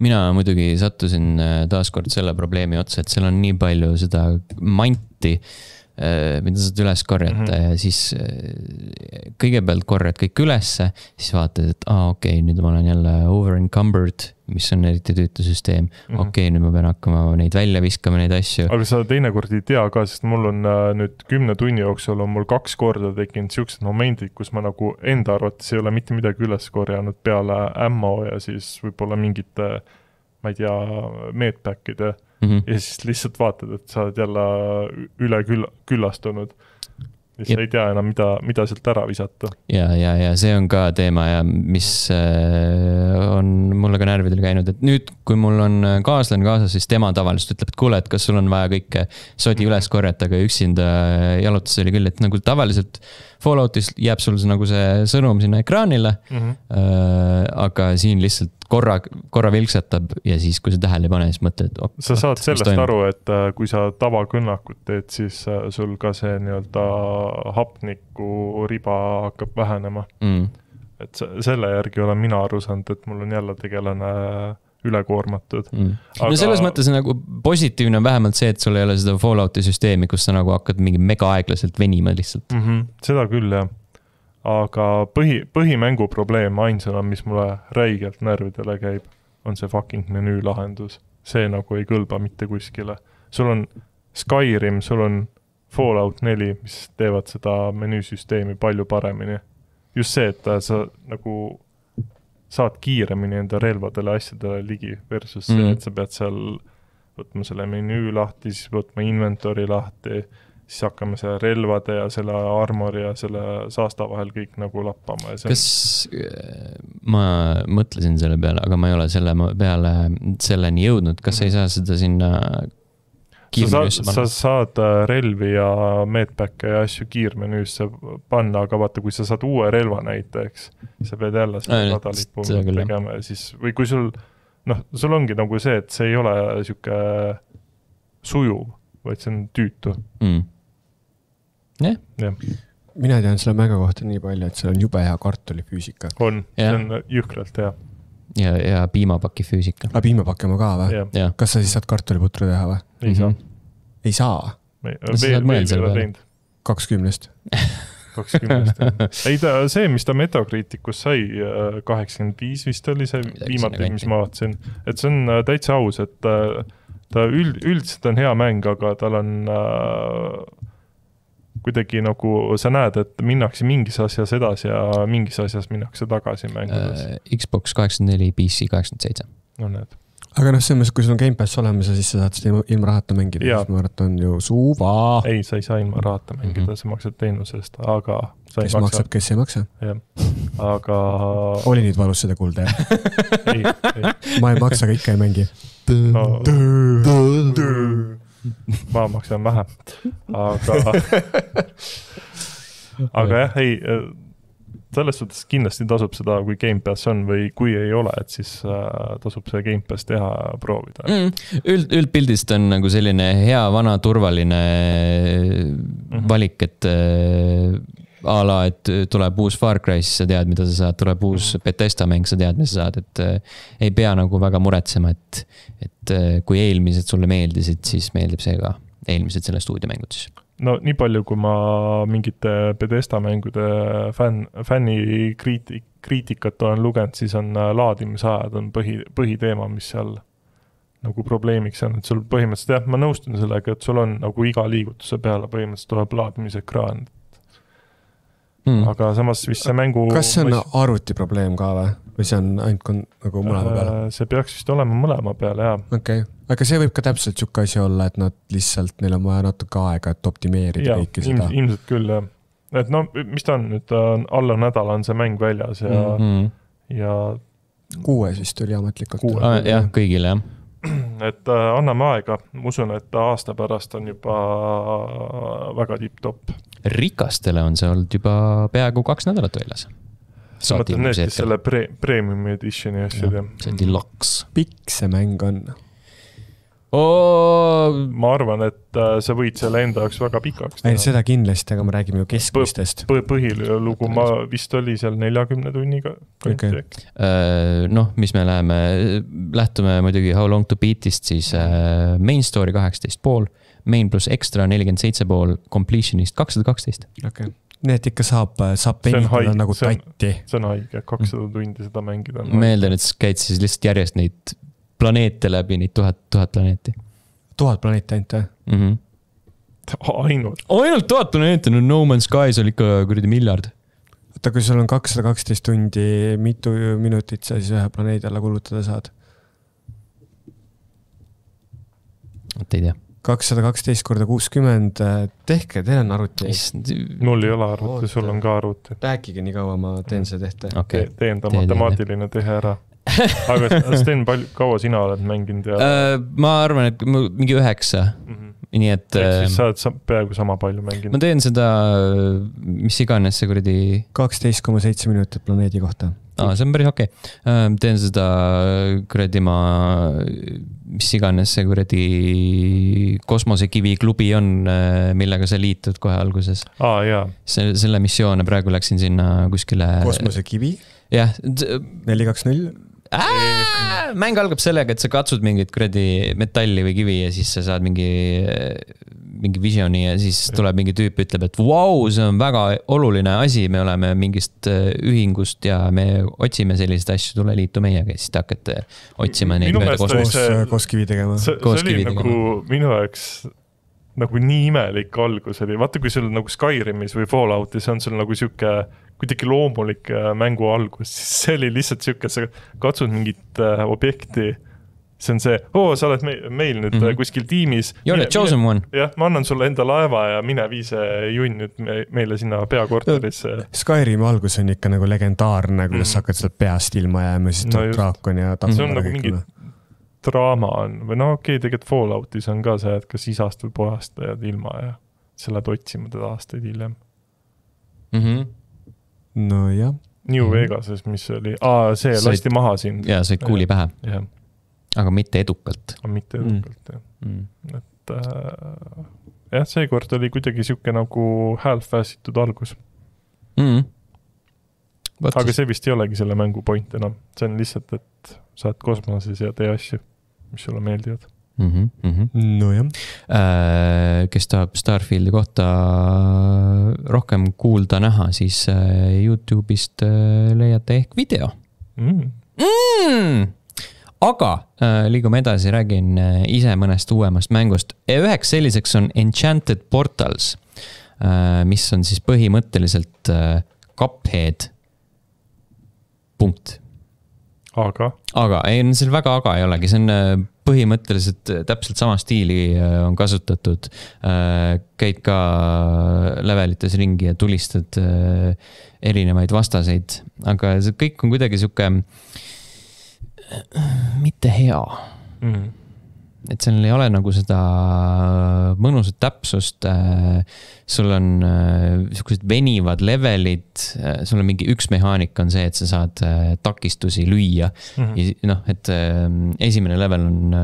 Mina muidugi sattusin taaskord selle probleemi otsa, et seal on nii palju seda manti, mida saad üles korjata mm-hmm. ja siis kõigepealt korjad kõik ülesse, siis vaatad, et aa, okei, okay, nüüd ma olen jälle over-encumbered, mis on eriti tüütusüsteem. Mm-hmm. Okei, okay, nüüd ma pean hakkama neid välja viskama, neid asju. Aga sa teinekord ei tea ka, sest mul on nüüd kümne tunni jooksul on mul kaks korda tekkinud siuksed momendid, kus ma nagu enda arvates ei ole mitte midagi üles korjanud peale ammo ja siis võib-olla mingite, ma ei tea, medpackide mm-hmm. ja siis lihtsalt vaatad, et sa oled jälle üle küll, küllastunud. Ja sa ei tea enam, mida, mida sealt ära visata. Ja, ja, ja see on ka teema ja mis on mulle ka närvidel käinud, et nüüd, kui mul on kaaslane kaasas, siis tema tavaliselt ütleb, et kuule, et kas sul on vaja kõike sodi üles korjata, aga üksinda jalutus oli küll, et nagu tavaliselt Falloutis jääb sul nagu see sõnum sinna ekraanile, mm-hmm. aga siin lihtsalt korra, korra vilksatab ja siis, kui sa tähele ei pane, siis mõtled, et sa saad sellest aru, et kui sa tavakõnnakut teed, siis sul ka see nii-öelda hapniku riba hakkab vähenema. Mm. Et selle järgi olen mina aru saanud, et mul on jälle tegelane ülekoormatud. Mm. Aga... No selles mõttes nagu positiivne on vähemalt see, et sul ei ole seda Fallouti süsteemi, kus sa nagu hakkad mingi mega aeglaselt venima lihtsalt. Mm-hmm. Seda küll, jah. Aga põhi, põhimängu probleem ainsana, mis mulle räigelt närvidele käib, on see fucking menüü lahendus. See nagu ei kõlba mitte kuskile. Sul on Skyrim, sul on Fallout neli, mis teevad seda menüüsüsteemi palju paremini. Just see, et sa nagu saad kiiremini enda relvadele asjadele ligi versus see, mm. et sa pead seal võtma selle menüü lahti, siis võtma inventory lahti, siis hakkame selle relvade ja selle armori ja selle saasta vahel kõik nagu lappama. Ja kas ma mõtlesin selle peale, aga ma ei ole selle peale selleni jõudnud, kas mm. ei saa seda sinna kiirmenüüsse panna? Sa saad relvi ja medpacke ja asju kiirmenüüsse panna, aga vaata, kui sa saad uue relva näiteks, sa pead jälle selle radalipu tegema ja siis, või kui sul, noh, sul ongi nagu see, et see ei ole siuke sujuv, vaid see on tüütu. Mm. Yeah. Ja. Mina tean selle mänga kohta nii palju, et seal on jube hea kartulifüüsika. On, yeah. See on jõhkralt hea. Ja, ja piimapaki füüsika. A piimapaki oma ka või? Yeah. Kas sa siis saad kartuliputru teha või? Ei saa. Mm-hmm. Ei saa? Me, veel, veel ei ole teinud. kakskümnest. kakskümnest. Ei ta, see, mis ta Metacriticus sai, kaheksakümmend viis vist oli see viimati, mis ma vaatasin. Et see on täitsa aus, et ta üld, üldiselt on hea mäng, aga tal on äh, kuidagi nagu sa näed, et minnakse mingis asjas edasi ja mingis asjas minnakse tagasi mängudes. Uh, Xbox kaheksakümmend neli, P C kaheksakümmend seitse. No need. Aga noh, see, kui sul on Game Pass olemas ja siis sa saad seda ilma rahata mängida, siis ma arvan, on ju suva. Ei, sa ei saa ilma rahata mängida, mm-hmm. sa maksad teenusest, aga sa ei kes maksa. maksab, kes ei maksa. Jah, aga... Oli nüüd valus seda kuulda, jah? ei, ei. Ma ei maksa, aga ikka ei mängi. No, ma maksan vähe. Aga, aga jah, ei, selles suhtes kindlasti tasub seda, kui Game Pass on või kui ei ole, et siis tasub see Game Pass teha proovida. Mm, üld, üldpildist on nagu selline hea, vana, turvaline mm-hmm. valik, et a la, et tuleb uus Far Cry, siis sa tead, mida sa saad, tuleb uus Bethesda mäng, sa tead, mis sa saad, et ei pea nagu väga muretsema, et, et kui eelmised sulle meeldisid, siis meeldib see ka eelmised selle stuudiomängud siis. No nii palju, kui ma mingite Bethesda mängude fänn, fänni kriiti, kriitikat olen lugenud, siis on laadimisajad on põhi, põhiteema, mis seal nagu probleemiks on, et sul põhimõtteliselt, jah, ma nõustun sellega, et sul on nagu iga liigutuse peale põhimõtteliselt tuleb laadimisekraan. Hmm. Aga samas vist see mängu... Kas see on võis... arvuti probleem ka või? Või see on ainult nagu mõlema peale? See peaks vist olema mõlema peale, jah. Okei. Okay. Aga see võib ka täpselt siuke asi olla, et nad lihtsalt, neil on vaja natuke aega, et optimeerida ja, kõiki seda. Ja, ilmselt küll, jah. Et no, mis ta on nüüd, alla nädala on see mäng väljas ja... Mm-hmm. ja... Kuues vist oli ametlikult. Kuues, ah, jah, kõigile, jah. Et äh, anname aega. Usun, et aasta pärast on juba väga tipp-topp. Rikastele on see olnud juba peaaegu kaks nädalat väljas. Sa mõtled need, kes selle pre- premium editioni asjad. Ja, see deluxe. Pikk see mäng on. Oh. Ma arvan, et äh, sa võid selle enda jaoks väga pikaks. Ei, seda kindlasti, aga me räägime ju keskmistest. P- põhilugu ma vist oli seal neljakümne tunniga. Okay. Uh, noh, mis me läheme, lähtume muidugi How Long to Beatist, siis uh, main story kaheksateist pool, main plus extra nelikümmend seitse pool, completionist kakssada kaksteist. Okay. Need ikka saab, saab penitada nagu tatti. See on haige, kakssada tundi seda mängida. Meelden, et käid siis lihtsalt järjest neid planeete läbi, neid tuhat, tuhat planeeti. Tuhat planeeti ainult, jah? Mm-hmm. Ainult? Ainult tuhat planeeti, no No Man's Skies oli ikka kuradi miljard. Oota, kui sul on kakssada kaksteist tundi, mitu minutit sa siis ühe planeedi alla kulutada saad? et ei tea. kakssada kaksteist korda kuuskümmend, tehke, teil on arvuti. Mul ei ole arvuti, sul on ka arvuti. Rääkige nii kaua, ma teen see tehte. Okay. Te, teen ta matemaatiline tehe ära. Aga Sten, palju, kaua sina oled mänginud? Ja... ma arvan, et mingi üheksa. Mm-hmm. Nii et... Ehk siis sa oled peaaegu sama palju mänginud. Ma teen seda, mis iganes see kuradi... kaksteist koma seitse minutit planeedi kohta. Aa, see on päris okei. Okay. Teen seda kuradi ma, mis iganes see kuradi kosmosekivi klubi on, millega sa liitud kohe alguses. Aa, jaa. Se, selle missioone praegu läksin sinna kuskile... Kosmosekivi? Jah. neli kaks null? Ää, mäng algab sellega, et sa katsud mingit kuradi metalli või kivi ja siis sa saad mingi, mingi visioni ja siis tuleb mingi tüüp, ütleb, et vau, see on väga oluline asi, me oleme mingist ühingust ja me otsime selliseid asju, tule liitu meiega ja siis te hakkate otsima neid mööda koos, koos kivi tegema. See, see oli nagu tegema. Minu jaoks nagu nii imelik algus oli. Vaata, kui sul nagu Skyrimis või Falloutis on sul nagu siuke kuidagi loomulik mängu algus, siis see oli lihtsalt siuke, sa katsud mingit objekti, see on see, oo, sa oled meil, meil nüüd mm-hmm. kuskil tiimis. You're the chosen one. Jah, ma annan sulle enda laeva ja mine viise junn nüüd meile sinna peakorterisse. Skyrim algus on ikka nagu legendaarne, kuidas mm. hakkad seda peast ilma jääma, siis tuleb no draakon ja tapab. See on nagu mingi draama on, või no okei, okay, tegelikult Falloutis on ka see, et kas isast või pojast jääd ilma ja sa lähed otsima teda aastaid hiljem. Mhm. No jah. New Vegases, mis oli, aa, see said, lasti maha siin. Jaa, said kuuli pähe. Ja. Aga mitte edukalt. Aga mitte edukalt, mm. jah. Mm. Et äh, jah, see kord oli kuidagi siuke nagu half-fassitud algus. Mm. Aga see vist ei olegi selle mängu point enam. See on lihtsalt, et sa oled kosmoses ja tee asju, mis sulle meeldivad. Mm-hmm, mm-hmm. No jah. Äh, kes tahab Starfieldi kohta rohkem kuulda näha, siis YouTube'ist leiate ehk video. Mm. Mm! Aga äh, liigume edasi, räägin ise mõnest uuemast mängust. Üheks selliseks on Enchanted Portals, äh, mis on siis põhimõtteliselt äh, Cuphead. Punkt. Aga? Aga, ei, seal väga aga ei olegi, see on põhimõtteliselt täpselt sama stiili on kasutatud. Käid ka levelites ringi ja tulistad erinevaid vastaseid, aga see kõik on kuidagi siuke mitte hea. Mm. Et seal ei ole nagu seda mõnusat täpsust, sul on sellised venivad levelid, sul on mingi üks mehaanik on see, et sa saad takistusi lüüa. Mm-hmm. No, et esimene level on,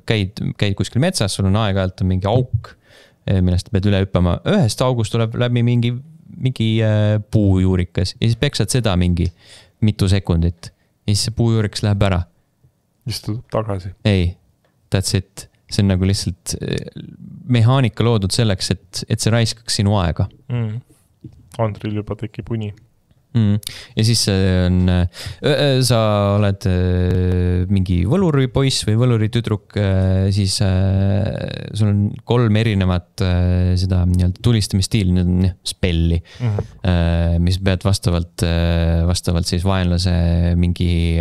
käid, käid kuskil metsas, sul on aeg-ajalt on mingi auk, millest pead üle hüppama. Ühest august tuleb läbi mingi, mingi puujuurikas ja siis peksad seda mingi mitu sekundit ja siis see puujuurikas läheb ära. Siis tuleb tagasi. Ei. That's it. See on nagu lihtsalt mehaanika loodud selleks, et, et see raiskaks sinu aega. Mm. Andril juba tekib uni. Mm. Ja siis on, sa oled mingi võluripoiss või võluritüdruk, siis sul on kolm erinevat seda tulistamisstiili, need on spelli, mm-hmm. mis pead vastavalt, vastavalt siis vaenlase mingi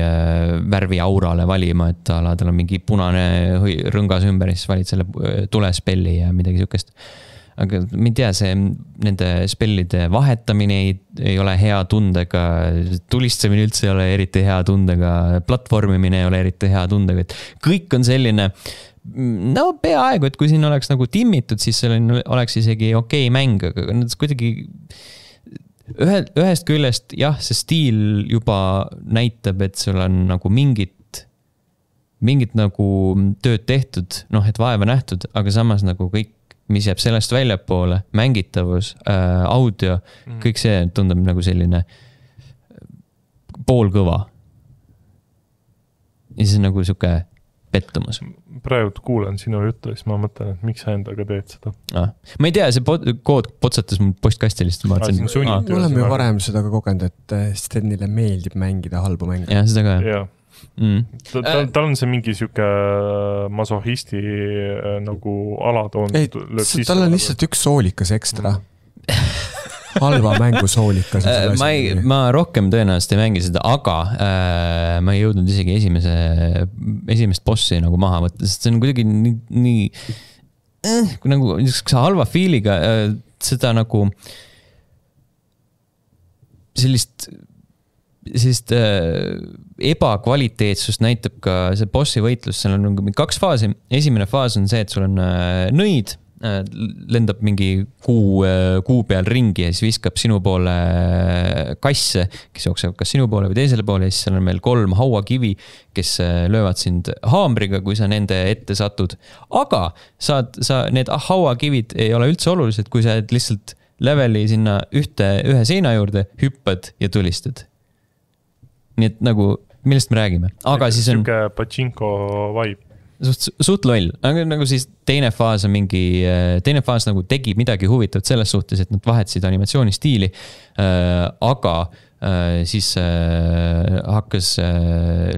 värvi aurale valima, et ala, tal on mingi punane rõngas ümber, siis valid selle tulespelli ja midagi sükest. Aga ma ei tea, see nende spellide vahetamine ei, ei ole hea tundega, tulistamine üldse ei ole eriti hea tundega, platvormimine ei ole eriti hea tundega, et kõik on selline, no peaaegu, et kui siin oleks nagu timmitud, siis see oleks isegi okei mäng, aga kuidagi ühe, ühest küljest, jah, see stiil juba näitab, et sul on nagu mingit, mingit nagu tööd tehtud, noh, et vaeva nähtud, aga samas nagu kõik mis jääb sellest väljapoole, mängitavus, äh, audio, mm. kõik see tundub nagu selline poolkõva. Ja siis on nagu siuke pettumus. Praegu kuulen sinu juttu ja siis ma mõtlen, et miks sa endaga teed seda. Ah. Ma ei tea, see kood potsatas mul postkasti lihtsalt. Me oleme ju varem seda ka kogenud, et Stenile meeldib mängida halbu mänge. Ja, seda ka. Ja. Mm. Tal ta, ta on see mingi siuke masohisti nagu alatoon. Ei, tal on lihtsalt üks soolikas ekstra. halva mängu soolikas. ma, ei, ma rohkem tõenäoliselt ei mängi seda, aga äh, ma ei jõudnud isegi esimese, esimest bossi nagu maha võtta, sest see on kuidagi nii, nii äh, nagu halva feeliga äh, seda nagu sellist sellist äh, ebakvaliteetsust näitab ka see bossi võitlus, seal on kaks faasi. Esimene faas on see, et sul on äh, nõid, äh, lendab mingi kuu, äh, kuu peal ringi ja siis viskab sinu poole kasse, kes jooksevad kas sinu poole või teisele poole ja siis seal on meil kolm hauakivi, kes äh, löövad sind haamriga, kui sa nende ette satud. Aga saad, sa, need hauakivid ei ole üldse olulised, kui sa lihtsalt leveli sinna ühte, ühe seina juurde, hüppad ja tulistad. Nii et nagu, millest me räägime. Aga siis on... Siuke pachinko vibe. Suht, suht loll. Aga nagu siis teine faas on mingi... Teine faas nagu tegi midagi huvitavat selles suhtes, et nad vahetasid animatsioonistiili. Aga siis hakkas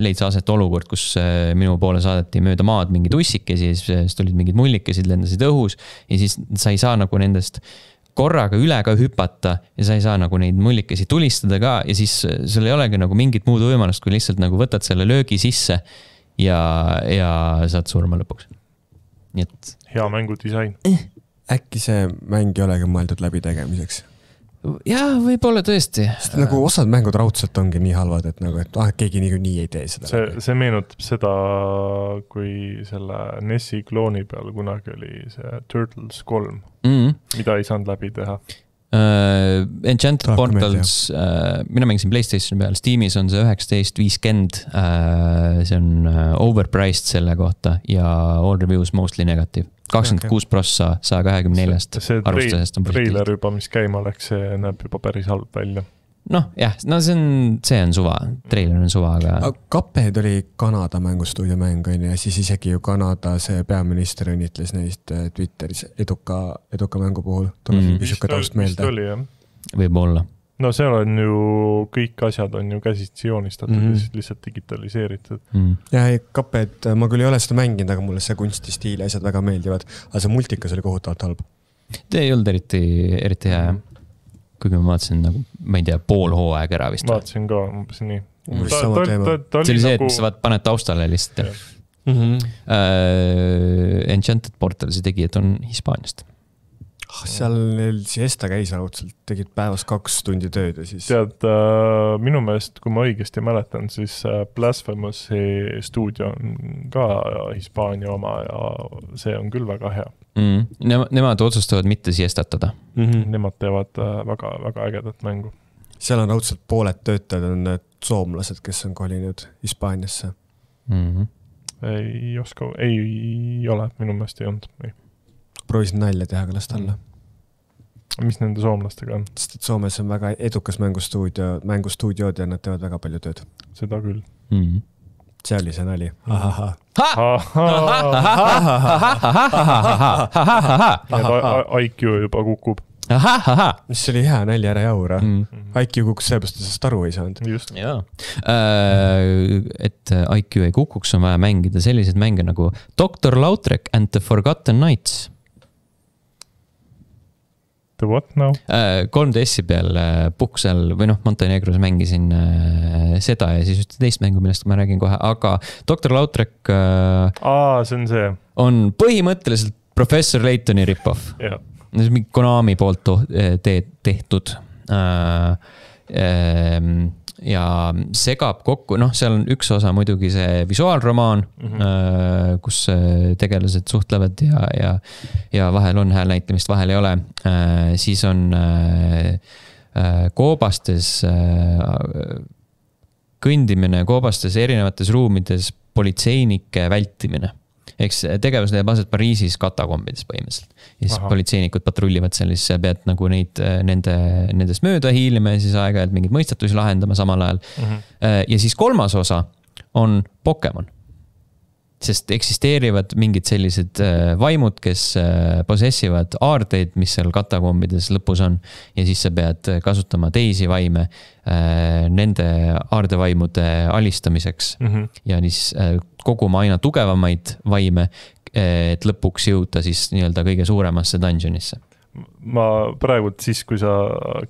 leidsa aset olukord, kus minu poole saadeti mööda maad mingid ussikesi, siis tulid mingid mullikesed, lendasid õhus ja siis sa ei saa nagu nendest... korraga üle ka hüpata ja sa ei saa nagu neid mullikesi tulistada ka ja siis sul ei olegi nagu mingit muud võimalust, kui lihtsalt nagu võtad selle löögi sisse ja, ja saad surma lõpuks. Nii et... Hea mängudisain. Äkki see mäng ei olegi mõeldud läbi tegemiseks? Jaa, võib-olla tõesti. Sest nagu osad mängud raudselt ongi nii halvad, et nagu, et ah, keegi nii, nii ei tee seda. See, see meenutab seda, kui selle Nessi klooni peal kunagi oli see Turtles kolm, mm-hmm. mida ei saanud läbi teha. Uh, Enchanted Dark Portals, uh, mina mängisin PlayStationi peal, Steamis on see üheksateist viiskümmend, uh, see on uh, overpriced selle kohta ja all reviews mostly negative. kakskümmend kuus prossa sada kakskümmend neljast arvustusest on treiler juba, mis käima läks, see näeb juba päris halb välja. Noh, jah, no see on, see on suva, treiler on suva, aga... Cuphead oli Kanada mängustuudio mäng, ja siis isegi ju Kanada see peaminister õnnitles neist Twitteris eduka, eduka mängu puhul. Tuleb mm. vist taust meelde. Oli, jah. Võib olla. No seal on ju, kõik asjad on ju käsitsi joonistatud mm. ja siis lihtsalt digitaliseeritud. Mm. Ja ei, Cuphead, ma küll ei ole seda mänginud, aga mulle see kunstistiil ja asjad väga meeldivad, aga see multikas oli kohutavalt halb. Te ei olnud eriti, eriti hea, mm. kuigi ma vaatasin nagu, ma ei tea, pool hooaeg ära vist. Vaatasin ka, umbes nii. Mm. Ta, ta, ta, ta see oli see, nagu... et sa vaat paned taustale lihtsalt. Mm-hmm. Uh, Enchanted Portalsi tegijad on Hispaaniast. Seal siesta käis raudselt, tegid päevas kaks tundi tööd ja siis... Tead, äh, minu meelest, kui ma õigesti mäletan, siis Blasphemousi stuudio on ka Hispaania oma ja see on küll väga hea. Mm. Nema, nemad otsustavad mitte siestatada. Mm-hmm. Nemad teevad väga, väga ägedat mängu. Seal on raudselt pooled töötajad, on need soomlased, kes on kolinud Hispaaniasse. Mm-hmm. Ei oska, ei ole, minu meelest ei olnud. Ei. Proovisin nalja teha ka last alla. Mis nende soomlastega on? Sest et Soomes on väga edukas mängustuudio, mängustuudiood ja nad teevad väga palju tööd. Seda küll. Mm. See oli see nali. I Q juba kukub. Mis oli hea nali, ära jaura. Mm. I Q kukus seepärast, et sest aru ei saanud. Just. Jaa. Et I Q ei kukuks, on vaja mängida sellised mänge nagu doktor Lautrec and the Forgotten Knights. The what now? kolm D S-i peal puhkusel või noh, Montenegros mängisin seda ja siis ühte teist mängu, millest ma räägin kohe, aga doktor Lautrec Aa, see on see. On põhimõtteliselt Professor Laytoni rip-off. Jah. See on mingi Konami poolt te- tehtud. Ja segab kokku, noh, seal on üks osa muidugi see visuaalromaan, mm-hmm. kus tegelased suhtlevad ja, ja, ja vahel on hääl näitamist, vahel ei ole. Siis on koobastes, kõndimine koobastes erinevates ruumides politseinike vältimine. Eks tegevus leiab aset Pariisis katakombides põhimõtteliselt. Ja siis Aha. politseinikud patrullivad seal, siis pead nagu neid, nende, nendest mööda hiilima ja siis aeg-ajalt mingid mõistatusi lahendama samal ajal. Mm-hmm. Ja siis kolmas osa on Pokemon. Sest eksisteerivad mingid sellised vaimud, kes possessivad aardeid, mis seal katakombides lõpus on. Ja siis sa pead kasutama teisi vaime nende aardevaimude alistamiseks. Mm-hmm. Ja siis koguma aina tugevamaid vaime, et lõpuks jõuda siis nii-öelda kõige suuremasse dungeonisse. ma praegult siis, kui sa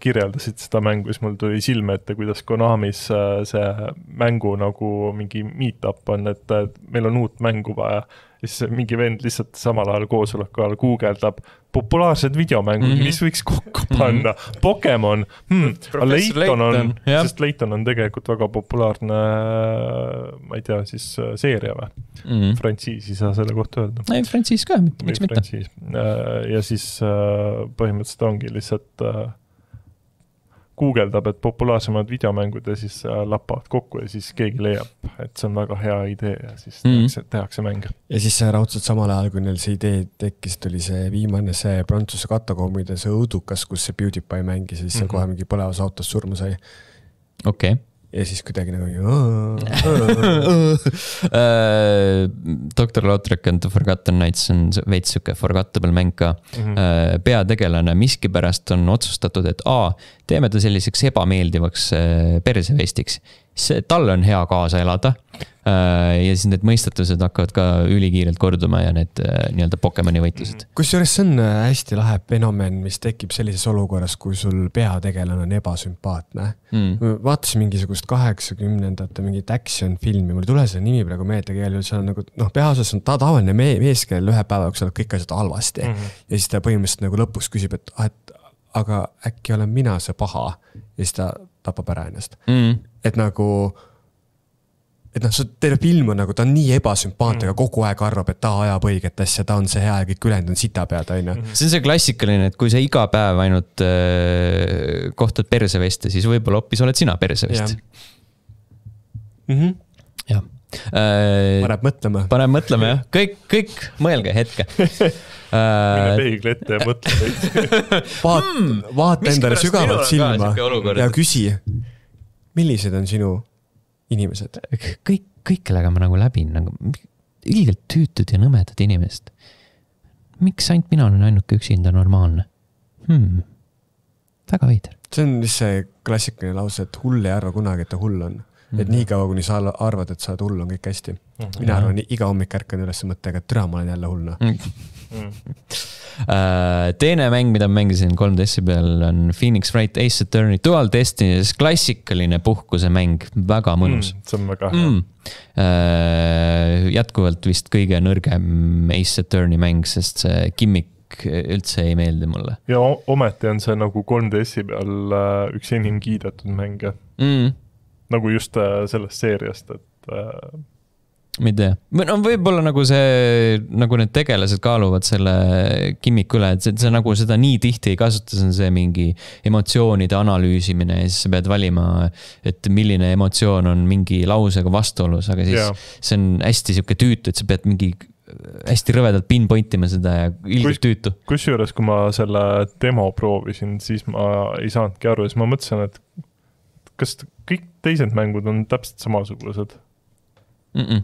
kirjeldasid seda mängu, siis mul tuli silme ette, kuidas Konamis see mängu nagu mingi meet-up on, et meil on uut mängu vaja. Siis mingi vend lihtsalt samal ajal koosoleku ajal guugeldab populaarsed videomängud, mm-hmm. mis võiks kokku panna. Mm-hmm. Pokemon, hmm, Layton on, sest Layton on tegelikult väga populaarne, ma ei tea, siis seeria või? Mm-hmm. Frantsiisi saa selle kohta öelda. Ei, Frantsiis ka, miks mitte. Ja siis põhimõtteliselt ongi lihtsalt guugeldab, et populaarsemad videomängud ja siis lappavad kokku ja siis keegi leiab, et see on väga hea idee ja siis mm. tehakse, tehakse mänge. Ja siis raudselt samal ajal, kui neil see idee tekkis, tuli see viimane see Prantsuse katakoomide see õudukas, kus see PewDiePie mängis ja siis mm-hmm. kohe mingi põlevas autos surma sai. Okei. Okay. Ja siis kuidagi nagu doktor Lautrek and the Forgotten Nights on veits süke forgettable mäng ka. Mm-hmm. Peategelane miskipärast on otsustatud, et A, teeme ta selliseks ebameeldivaks persevestiks. Tal on hea kaasa elada ja siis need mõistatused hakkavad ka ülikiirelt korduma ja need nii-öelda Pokemoni võitlused. Kusjuures see on hästi lahe fenomen, mis tekib sellises olukorras, kui sul peategelane on ebasümpaatne. Mm. Vaatasin mingisugust kaheksakümnendate mingit action filmi, mul ei tule see nimi praegu meelde keelel, see on nagu, noh, peaosas on ta tavaline mees, kellel ühe päeva jooksul kõik asjad halvasti mm-hmm. ja siis ta põhimõtteliselt nagu lõpus küsib, et, et aga äkki olen mina see paha ja siis ta tapab ära ennast. Mm. Et nagu, et noh, see terve film on nagu, ta on nii ebasümpaatne, aga kogu aeg arvab, et ta ajab õiget asja, ta on see hea ja kõik ülejäänud on sita pead, aina. See on see klassikaline, et kui sa iga päev ainult äh, kohtad perseveste, siis võib-olla hoopis oled sina persevest. Mhm. Jah. Äh, Paneb mõtlema. Paneb mõtlema, jah. Kõik, kõik mõelge hetke. Mine peegli ette ja mõtle. Vaat, vaata endale sügavalt silma ja küsi, millised on sinu inimesed? Kõik, kõik, kellega ma nagu läbin, nagu ilgelt tüütud ja nõmedad inimest. Miks ainult mina olen ainuke üksinda normaalne? Hmm. Väga veider. See on vist see klassikaline lause, et hull ei arva kunagi, et ta hull on. Mm-hmm. Et nii kaua, kuni sa arvad, et sa oled hull, on kõik hästi. Mm-hmm. Mina arvan, iga hommik ärkan üles mõttega, et türa, ma olen jälle hullna. Mm-hmm. Teine mäng, mida ma mängisin kolm D S peal on Phoenix Wright Ace Attorney Dual Destiny, klassikaline puhkuse mäng, väga mõnus. Mm, see on väga hea. Mm. Jätkuvalt vist kõige nõrgem Ace Attorney mäng, sest see gimmick üldse ei meeldi mulle. Ja ometi on see nagu kolm D S peal üks enim kiidetud mäng. Mm. Nagu just sellest seeriast, et ma ei tea. No võib-olla nagu see, nagu need tegelased kaaluvad selle gimmick üle, et see, see nagu seda nii tihti ei kasuta, see on see mingi emotsioonide analüüsimine ja siis sa pead valima, et milline emotsioon on mingi lausega vastuolus, aga siis yeah. see on hästi siuke tüütu, et sa pead mingi hästi rõvedalt pinpointima seda ja ilgelt tüütu. Kus juures, kui ma selle demo proovisin, siis ma ei saanudki aru ja siis ma mõtlesin, et kas kõik teised mängud on täpselt samasugused? Mm-mm.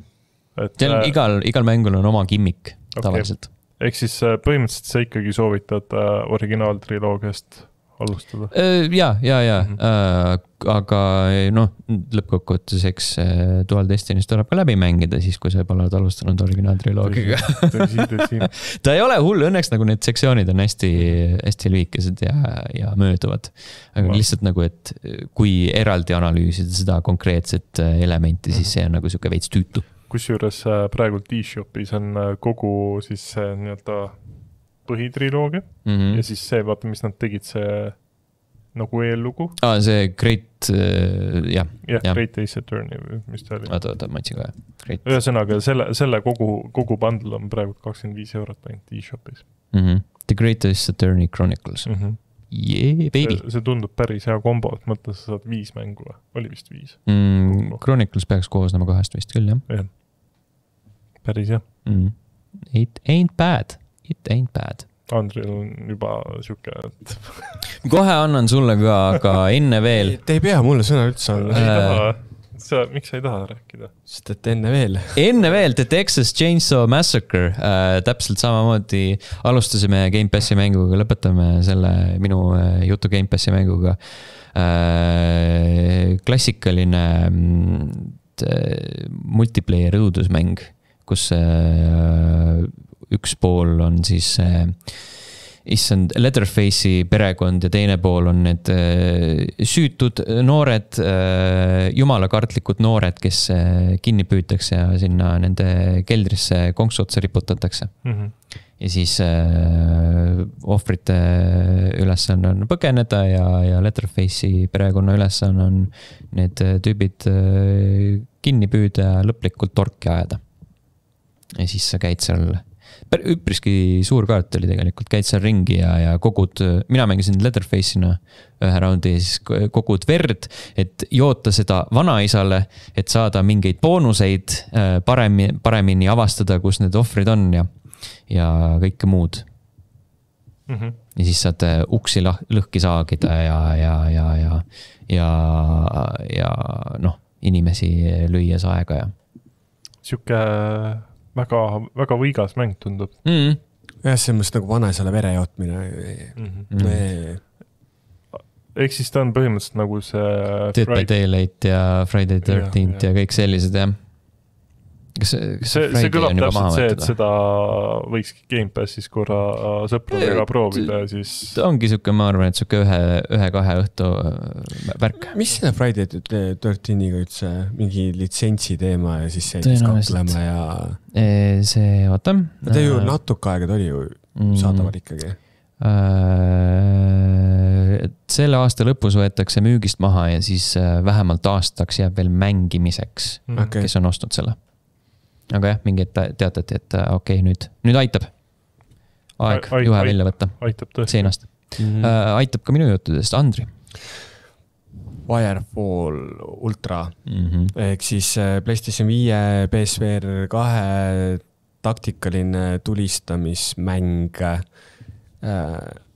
Et, see on igal, igal mängul on oma gimmick okay. tavaliselt. Ehk siis põhimõtteliselt sa ikkagi soovitad originaaltriloogiast alustada? Ja, ja, ja. Mm-hmm. Aga noh, lõppkokkuvõttes, eks Dual Destinys tuleb ka läbi mängida siis, kui sa pole alustanud originaaltriloogiga. Ta ei ole hull, õnneks nagu need sektsioonid on hästi, hästi lühikesed ja, ja mööduvad. Aga Ma. lihtsalt nagu, et kui eraldi analüüsida seda konkreetset elementi, siis see on nagu siuke veits tüütu. Kusjuures praegult eShopis on kogu siis see nii-öelda põhitriloogia mm-hmm. ja siis see, vaata, mis nad tegid, see nagu eellugu. Ah, see Great, äh, jah. Jah, ja. Great Ace Attorney, mis ta oli. Oota, oota, ma otsin ka. Ühesõnaga, selle, selle kogu, kogu bundle on praegu kakskümmend viis eurot ainult eShopis. Mm-hmm. The Great Ace Attorney Chronicles. Mm-hmm. Yeah, baby. See, see tundub päris hea kombo, et mõttes sa saad viis mängu. Oli vist viis. Mm, Chronicles peaks koosnema kahest vist küll, jah. jah. Päris jah. Mm. It ain't bad. It ain't bad. Andril on juba siuke, et... Kohe annan sulle ka, aga enne veel... Te ei pea mulle sõna üldse anda. Ei taha. Sa, miks sa ei taha rääkida? Sest et enne veel. Enne veel, The Texas Chainsaw Massacre. Äh, täpselt samamoodi alustasime Game Passi mänguga, lõpetame selle minu jutu Game Passi mänguga. Äh, klassikaline multiplayer õudusmäng, kus äh, üks pool on siis äh, issand, Leatherface'i perekond ja teine pool on need süütud noored, jumalakartlikud noored, kes kinni püütakse ja sinna nende keldrisse konksu otsa riputatakse. Mm-hmm. Ja siis äh, ohvrite ülesanne on põgeneda ja, ja Leatherface'i perekonna ülesanne on need tüübid äh, kinni püüda ja lõplikult torki ajada. Ja siis sa käid seal, üpriski suur kaart oli tegelikult, käid seal ringi ja, ja kogud, mina mängisin Leatherface'ina ühe raundi ja siis kogud verd, et joota seda vanaisale, et saada mingeid boonuseid, paremini, paremini avastada, kus need ohvrid on ja ja kõike muud. Mm-hmm. Ja siis saad uksi lõhki saagida ja, ja, ja, ja, ja, ja noh, inimesi lüües aega ja. Siuke väga, väga võigas mäng tundub. Mm. Ja see on mõist nagu vanaisale vere jootmine. Mm-hmm. Mm. Ehk siis ta on põhimõtteliselt nagu see Dead by Daylight ja Friday thirteenth ja, ja. ja kõik sellised jah. Kas, kas see, see kõlab täpselt see, et seda võikski Game Passis korra sõpradega proovida ja siis... Ta ongi siuke, ma arvan, et siuke ühe, ühe kahe õhtu värk. Mis selle Friday thirteeniga üldse mingi litsentsi teema ja siis see kaklema ja... See, oota. Ta ju natuke aega tuli ju saadaval ikkagi. Selle aasta lõpus võetakse müügist maha ja siis vähemalt aastaks jääb veel mängimiseks, okay. Kes on ostnud selle. Aga jah, mingi teatati, et okei, okay, nüüd, nüüd aitab. Aeg Ai, juhe välja võtta. Aitab tõesti. Seinast. Mm-hmm. Uh, aitab ka minu juttudest. Andri. Firefall Ultra. Mm-hmm. Ehk siis PlayStation viie, P S V R kahe taktikaline tulistamismäng. Uh,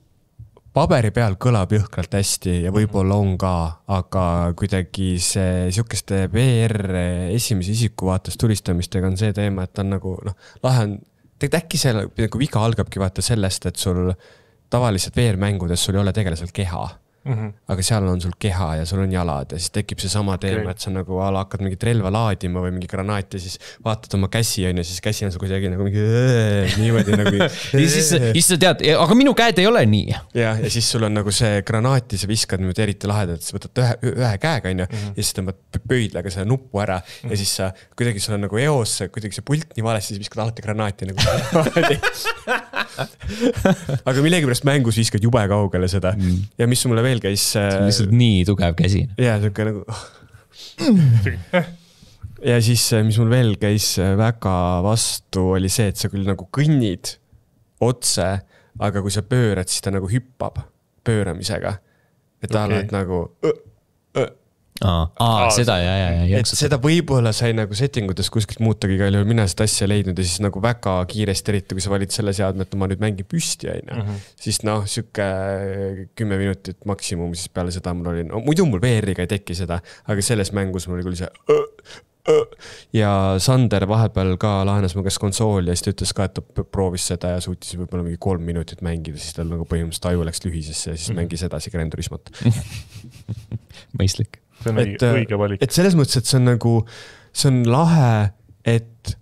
paberi peal kõlab jõhkralt hästi ja võib-olla on ka, aga kuidagi see siukeste V R esimese isiku vaates tulistamistega on see teema, et on nagu, noh, lahe on, tegelikult äkki see nagu viga algabki vaata sellest, et sul tavaliselt V R-mängudes sul ei ole tegelasel keha. Mm-hmm. Aga seal on sul keha ja sul on jalad ja siis tekib see sama teema, okay. Et sa nagu ala hakkad mingit relva laadima või mingi granaat ja siis vaatad oma käsi on ja siis käsi on sul kuidagi nagu mingi niimoodi nagu ja siis, siis sa tead, aga minu käed ei ole nii. Ja, ja siis sul on nagu see granaati, sa viskad nüüd eriti lahedalt, siis võtad ühe, ühe käega on ju, mm-hmm. Ja siis tõmbad pöidlaga selle nuppu ära mm-hmm. Ja siis sa kuidagi sul on nagu eos, kuidagi see pult nii valesti, siis viskad alati granaati nagu aga millegipärast mängus viskad jube kaugele seda mm. Ja mis mulle veel käis see on lihtsalt nii tugev käsi ja siuke nagu ja siis mis mul veel käis väga vastu oli see, et sa küll nagu kõnnid otse, aga kui sa pöörad, siis ta nagu hüppab pööramisega et ta okay. Alad nagu ö, ö. Aa, aa, seda ja, ja, ja et seda võib-olla sai nagu settingutes kuskilt muutagi ka, mina seda asja leidnud ja siis nagu väga kiiresti, eriti kui sa valid selle seadme, et ma nüüd mängin püsti aina, mm-hmm. Siis noh, siuke kümme minutit maksimum, siis peale seda mul oli, no muidu mul V R-iga ei teki seda, aga selles mängus mul oli küll see ö, ö. Ja Sander vahepeal ka lahenes mu käest konsooli ja siis ta ütles ka, et ta proovis seda ja suutis võib-olla mingi kolm minutit mängida, siis tal nagu põhimõtteliselt aju läks lühisesse ja siis mm-hmm. Mängis edasi Gran Turismot. Mõistlik. See on et, õige valik. Et selles mõttes, et see on nagu, see on lahe, et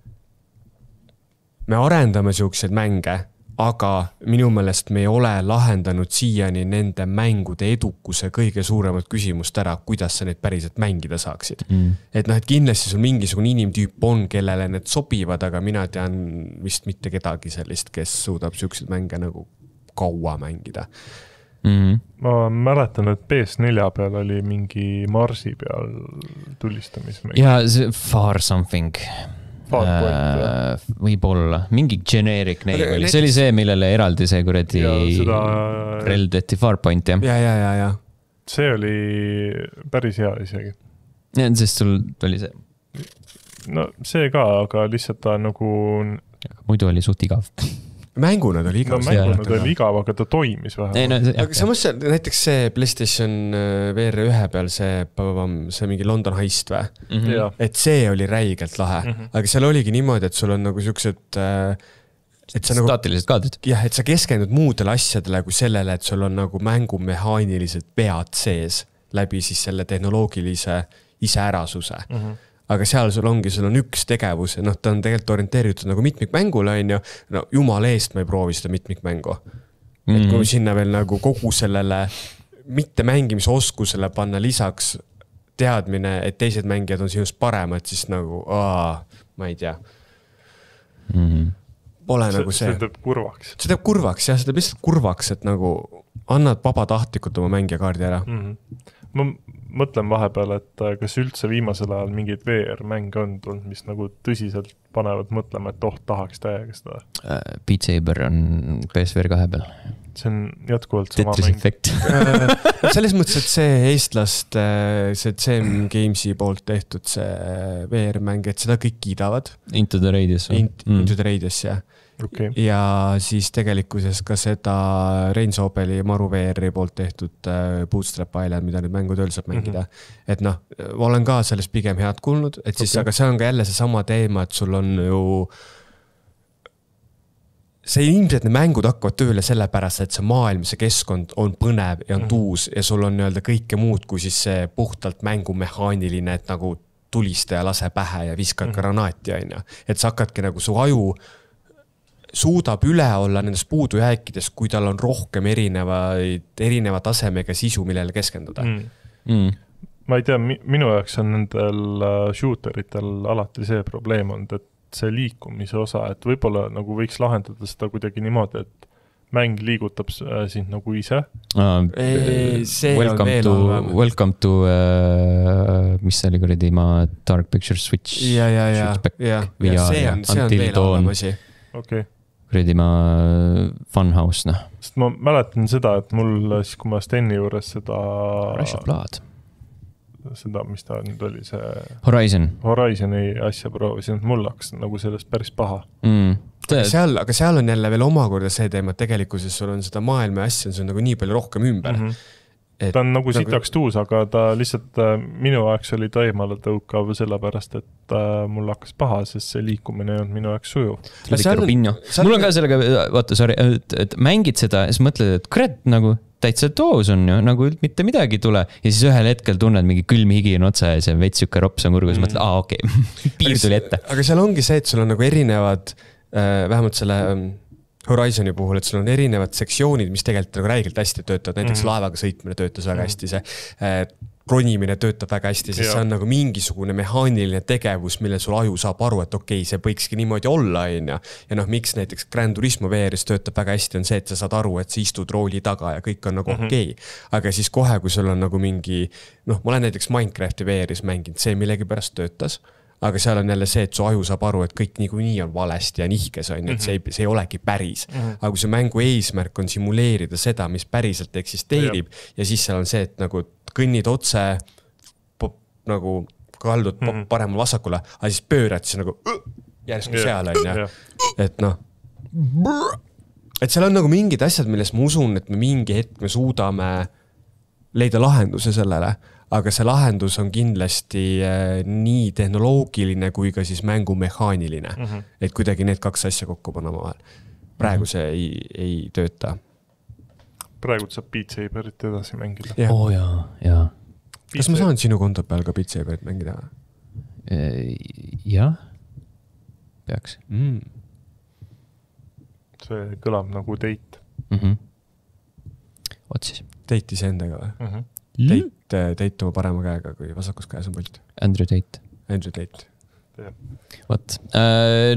me arendame siukseid mänge, aga minu meelest me ei ole lahendanud siiani nende mängude edukuse kõige suuremat küsimust ära, kuidas sa neid päriselt mängida saaksid. Mm. Et noh, et kindlasti sul mingisugune inimtüüp on, kellele need sobivad, aga mina tean vist mitte kedagi sellist, kes suudab siukseid mänge nagu kaua mängida. Mm-hmm. Ma mäletan, et P S four peal oli mingi Marsi peal tulistamismäng. Ja see Far Something. Far Point, äh, võib-olla. Mingi generic name oli. See oli see, millele eraldi see kuradi seda... reldeti Far Point, jah? Ja, ja, ja, ja. See oli päris hea isegi. Ja, sest sul oli see. No see ka, aga lihtsalt ta nagu... Muidu oli suht igav. Mänguna ta oli igav. No mänguna ta oli igav, aga ta toimis vähe. No, aga samas see, näiteks see PlayStation V R one peal see, see mingi London Heist või? Mm-hmm. Et see oli räigelt lahe. Mm-hmm. Aga seal oligi niimoodi, et sul on nagu siuksed... Et sa nagu, staatilised kaadrid. Jah, et sa keskendud muudele asjadele kui sellele, et sul on nagu mängumehaanilised pead sees läbi siis selle tehnoloogilise iseärasuse. Mm-hmm. Aga seal sul ongi, sul on üks tegevus ja noh, ta on tegelikult orienteeritud nagu mitmikmängule, on ju. No jumal eest ma ei proovi seda mitmikmängu. mm. et kui sinna veel nagu kogu sellele mitte mängimise oskusele panna lisaks teadmine, et teised mängijad on sinust paremad, siis nagu, aa, ma ei tea. Mm-hmm. Pole see, nagu see. See teeb kurvaks. See teeb kurvaks, jah, see teeb lihtsalt kurvaks, et nagu annad vabatahtlikult oma mängijakaardi ära. Mm-hmm. Ma mõtlen vahepeal, et kas üldse viimasel ajal mingid V R-mänge on tulnud, mis nagu tõsiselt panevad mõtlema, et oh, tahaks täiega seda. Uh, Beat Saber on P S V R kahe peal. See on jätkuvalt sama Tetris mäng. Effect. Selles mõttes, et see eestlast, see C M Gamesi poolt tehtud see V R-mäng, et seda kõik kiidavad. Into the Radius. Int, mm. Into the Radius, jah. Okay. Ja siis tegelikkuses ka seda Rein Soobeli Maru V R-i poolt tehtud Bootstrap Island, mida nüüd mängutööl saab mängida. Mm-hmm. Et noh, ma olen ka sellest pigem head kuulnud, et siis, okay. aga see on ka jälle see sama teema, et sul on ju see ilmselt need mängud hakkavad tööle sellepärast, et see maailm, see keskkond on põnev ja on tuus ja sul on nii-öelda kõike muud, kui siis see puhtalt mängumehaaniline, et nagu tulistaja lase pähe ja viskad mm-hmm. granaati, aina. Et sa hakkadki nagu su aju suudab üle olla nendest puudujääkidest, kui tal on rohkem erinevaid, erineva tasemega sisu, millele keskenduda. Mm. Mm. Ma ei tea, minu jaoks on nendel shooteritel alati see probleem on, et see liikumise osa, et võib-olla nagu võiks lahendada seda kuidagi niimoodi, et mäng liigutab sind nagu ise. Ah, ei, see welcome on veel to, halvem. welcome to uh, mis see oli kuradi ma Dark Picture Switch. Ja, ja, ja, ja. ja see on, see on veel halvem asi. Okay. Kuradi ma Funhouse, noh. Sest ma mäletan seda, et mul siis, kui ma Steni juures seda Rush of Blood. seda, mis ta nüüd oli, see Horizon. Horizoni asja proovisin, et mul hakkas nagu sellest päris paha. Mm. Aga seal, aga seal on jälle veel omakorda see teema, et tegelikkuses sul on seda maailma asja, see on nagu nii palju rohkem ümber. Mm-hmm. Et, ta on nagu sitaks tuus, aga ta lihtsalt minu aeks oli ta eemale tõukav sellepärast, et mul hakkas paha, sest see liikumine on minu aeks sujuv. Seal, seal... Mul on ka sellega, vaata, sorry, et, et mängid seda ja siis mõtled, et kurat, nagu täitsa toos on ju, nagu mitte midagi tule. Ja siis ühel hetkel tunned mingi külm higi on otsa ja see vetsjuke rops on kurgus, mm. mõtled, aa okei, okay. piir tuli ette. Aga seal ongi see, et sul on nagu erinevad, vähemalt selle Horizoni puhul, et sul on erinevad sektsioonid, mis tegelikult nagu räigelt hästi töötavad, näiteks mm-hmm. laevaga sõitmine töötas väga hästi, see ronimine töötab väga hästi, sest see on nagu mingisugune mehaaniline tegevus, mille sul aju saab aru, et okei, okay, see võikski niimoodi olla, ja, ja noh, miks näiteks Gran Turismo V R-is töötab väga hästi, on see, et sa saad aru, et sa istud rooli taga ja kõik on nagu mm-hmm. okei. Okay. Aga siis kohe, kui sul on nagu mingi, noh, ma olen näiteks Minecrafti V R-is mänginud, see millegi pärast töötas, aga seal on jälle see, et su aju saab aru, et kõik niikuinii on valesti ja nihkes on, et see ei, see ei olegi päris. Mm-hmm. Aga kui see mängu eesmärk on simuleerida seda, mis päriselt eksisteerib ja, ja siis seal on see, et nagu kõnnid otse, pop, nagu kaldud pop, mm-hmm. paremal vasakule, aga siis pöörad siis nagu järsku yeah. seal on ja. Et noh, et seal on nagu mingid asjad, milles ma usun, et me mingi hetk me suudame leida lahenduse sellele. Aga see lahendus on kindlasti nii tehnoloogiline kui ka siis mängumehaaniline. Mm-hmm. Et kuidagi need kaks asja kokku panna vahel. Praegu see ei, ei tööta. Praegu saab Beat Saberit edasi mängida. Ja. Oo jaa, jaa. Kas ma saan sinu konto peal ka Beat Saberit mängida? Jah, peaks. Mm. See kõlab nagu date. Mm-hmm. Oot siis. Date ise endaga või? Mm-hmm. Date, date oma parema käega, kui vasakus käes on pult. Andrew Tate. Andrew Tate. Võt.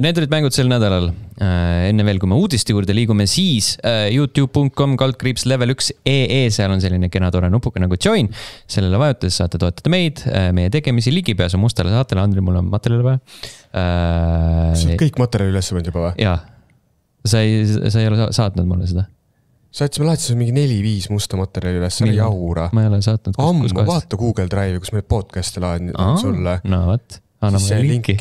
Need olid mängud sel nädalal. Enne veel, kui me uudiste juurde liigume, siis youtube dot com kaldkriips level üks ee, seal on selline kena tore nupuga nagu join. Sellele vajutades saate toetada meid, meie tegemisi ligipääsu mustale saatele. Andri, mul on materjali vaja. Sa oled kõik materjali üles võnd juba või? Jaa. Sa ei, sa ei ole saatnud mulle seda? Saatsime lahti mingi neli viis musta materjali üles, see oli jaura. Ma ei ole saatnud. Ammu, vaata Google Drive'i, kus meil podcast'e laadnud sulle. No võt, anna mulle linki.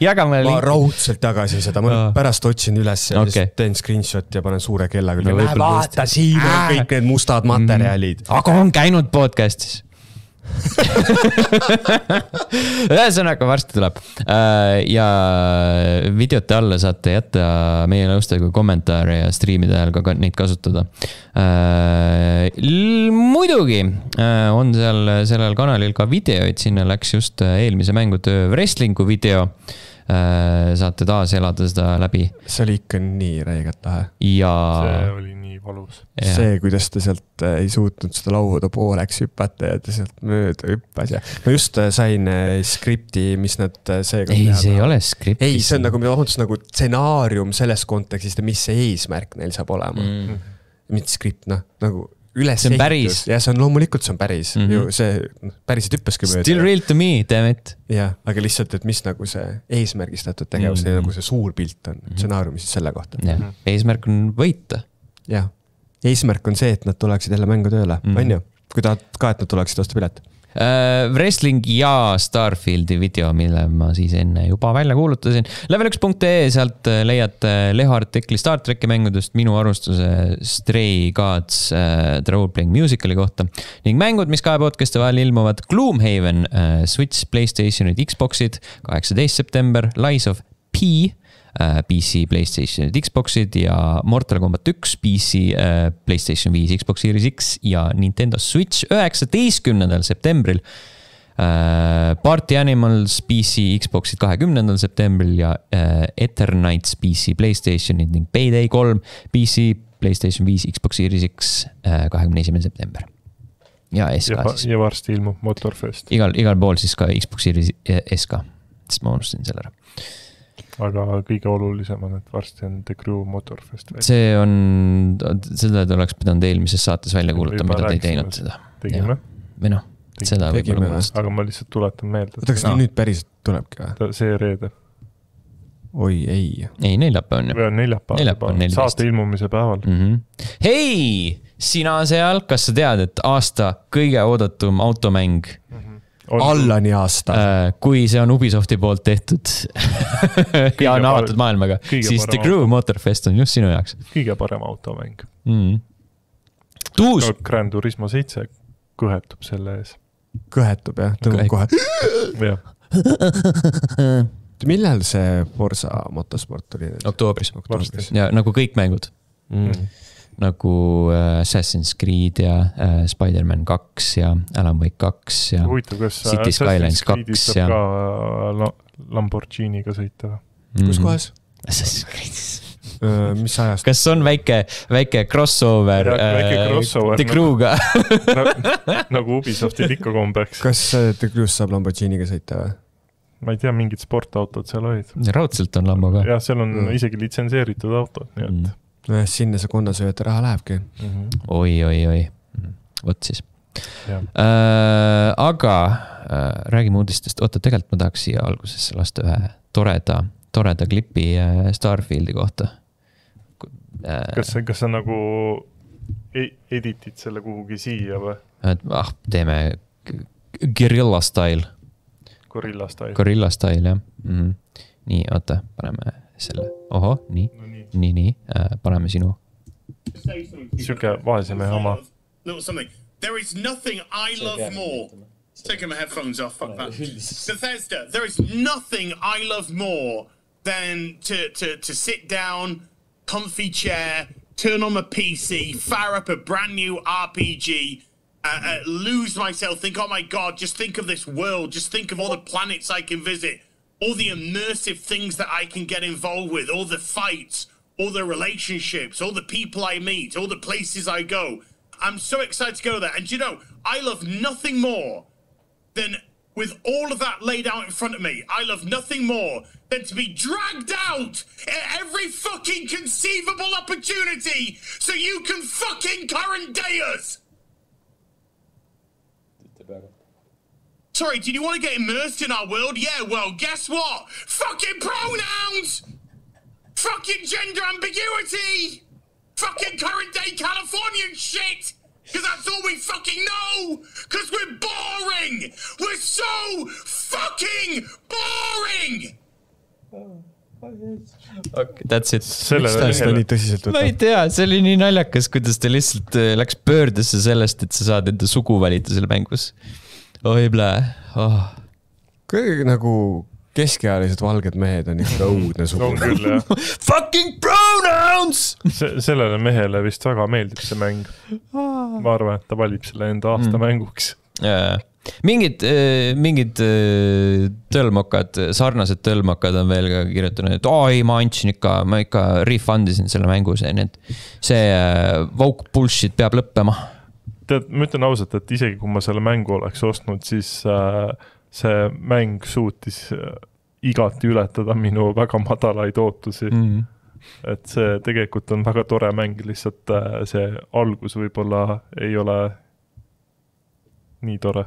Jaga mulle linki. Ma raudselt tagasin seda, ma pärast otsin üles ja okay. teen screenshot ja panen suure kellaga. No, vaata, siin on kõik need mustad materjalid. Aga on käinud podcastis. Ühesõnaga varsti tuleb ja videote alla saate jätta meie nõustega kommentaare ja streamide ajal ka neid kasutada. Muidugi on seal sellel kanalil ka videoid, sinna läks just eelmise mängutöö wrestlingu video. saate taas elada seda läbi. See oli ikka nii räigelt lahe. Ja... See oli nii valus. Ja. See, kuidas ta sealt ei suutnud seda lauda pooleks hüpata ja ta sealt mööda hüppas ja ma just sain skripti, mis nad seega ei, see ei ole skripti. Ei, see on nagu, nagu stsenaarium selles kontekstist, mis see eesmärk neil saab olema. Mm. Mitte skript, noh, nagu üles see on päris. Ja see on loomulikult, see on päris. Mm -hmm. ju see päriselt hüppaski mööda. Still real to me, damn it. Ja, aga lihtsalt, et mis nagu see eesmärgistatud tegevus, mm -hmm. nagu see suur pilt on, stsenaariumi siis selle kohta. Ja. Eesmärk on võita. Jah. Eesmärk on see, et nad tuleksid jälle mängu tööle, mm -hmm. on ju? Kui tahad ka, et nad tuleksid osta pilet. Uh, wrestling ja Starfieldi video, mille ma siis enne juba välja kuulutasin. level üks punkt ee, sealt leiad Leho artikli Star Treki mängudest, minu arvustuse Stray Gods uh, The Role-Playing Musicali kohta ning mängud, mis kahe podcasti vahel ilmuvad Gloomhaven, uh, Switch, PlayStationid, Xboxid, kaheksateist september, Lies of P, P C, PlayStation, Xboxid ja Mortal Kombat üks, P C, PlayStation viis, Xbox Series X ja Nintendo Switch üheksateistkümnendal septembril. Party Animals, P C, Xboxid kahekümnendal septembril ja Eternights, P C, PlayStationid ning Payday kolm, P C, PlayStation viis, Xbox Series X kahekümne esimene september. Ja S K ja, siis. Ja varsti ilmub Motorfest. Igal, igal pool siis ka Xbox Series S K, sest ma unustasin selle ära. Aga kõige olulisem on, et varsti on The Crew Motorfest. See on, seda te oleks pidanud eelmises saates välja kuuluta, mida te ei teinud seda. Tegime? Või noh, seda tegime. Aga ma lihtsalt tuletan meelde. Oota, kas no. nüüd päriselt tulebki või? See reede. Oi, ei. Ei, neljapäev on ju. Või on neljapäev. Saate ilmumise päeval. Mm -hmm. Hei, sina seal, kas sa tead, et aasta kõige oodatum automäng mm -hmm. Allani aasta. Kui see on Ubisofti poolt tehtud ja on avatud maailmaga, siis The Crew Motorfest on just sinu jaoks. Kõige parem automäng. Mm. Tuus! No, Gran Turismo seitse kõhetub selle ees. Kõhetub, jah? Tõmbab kohe. jah. Millal see Forza motosport tuli? Oktoobris. Ja nagu kõik mängud. Mm. Nagu Assassin's Creed ja uh, Spider-Man kaks ja Alan Wake kaks ja Huvitav, kas City Skylines kaks ja ka Lamborghiniga sõita? Mm-hmm. Kus kohas? Assassin's Creed. Uh, mis ajast? Kas on väike, väike crossover, ja, väike crossover The Crew'ga? nagu, nagu Ubisoftil ikka kombeks. Kas The Crew's saab Lamborghiniga sõita või? Ma ei tea, mingid sportautod seal olid. Raudselt on Lambo ka. Ja, seal on mm. isegi litsenseeritud autod, nii et mm. no, sinna see konnasööta raha lähebki. Mm -hmm. Oi, oi, oi. Võt siis. Äh, aga äh, räägime uudistest. Oota, tegelikult ma tahaks siia algusesse lasta ühe toreda, toreda klipi äh, Starfieldi kohta. Äh, kas, kas sa nagu editid selle kuhugi siia või? Ah, teeme Guerrilla style. Gorilla style. Gorilla style, jah. Mm -hmm. Nii, oota, paneme selle. Oho, nii. No, nii, nii, nii. Äh, paneme sinu. Siuke vaesemehe oma. There is nothing I love more. Taking my headphones off. Fuck that. Bethesda, there is nothing I love more than to, to, to sit down, comfy chair, turn on my P C, fire up a brand new R P G, Uh, uh, lose myself, think, oh my God, just think of this world, just think of all the planets I can visit, all the immersive things that I can get involved with, all the fights, all the relationships, all the people I meet, all the places I go. I'm so excited to go there. And you know, I love nothing more than, with all of that laid out in front of me, I love nothing more than to be dragged out at every fucking conceivable opportunity so you can fucking current day us. Sorry, did you want to get immersed in our world? Yeah, well, guess what? Fucking pronouns! Fucking gender ambiguity! Fucking current day Californian shit! Because that's all we fucking know! Because we're boring! We're so fucking boring! Okay, that's it. Miks ta seda nii tõsiselt võtab? Ma ei tea, see oli nii naljakas, kuidas ta lihtsalt läks pöördesse sellest, et sa saad enda sugu valida selle mängus. Oi blää. Oh. Kõige nagu keskealised valged mehed on ikka õudne sugu. On küll, jah. Fucking pronouns! Se sellele mehele vist väga meeldib see mäng. Ma arvan, et ta valib selle enda aasta mm. mänguks. Yeah. mingid, mingid tõlmokad, sarnased tõlmokad on veel ka kirjutanud, et aa ei, ma andsin ikka, ma ikka refundisin selle mängu, see, need, see woke bullshit peab lõppema. Tead, ma ütlen ausalt, et isegi kui ma selle mängu oleks ostnud, siis see mäng suutis igati ületada minu väga madalaid ootusi. Mm. Et see tegelikult on väga tore mäng, lihtsalt see algus võib-olla ei ole nii tore.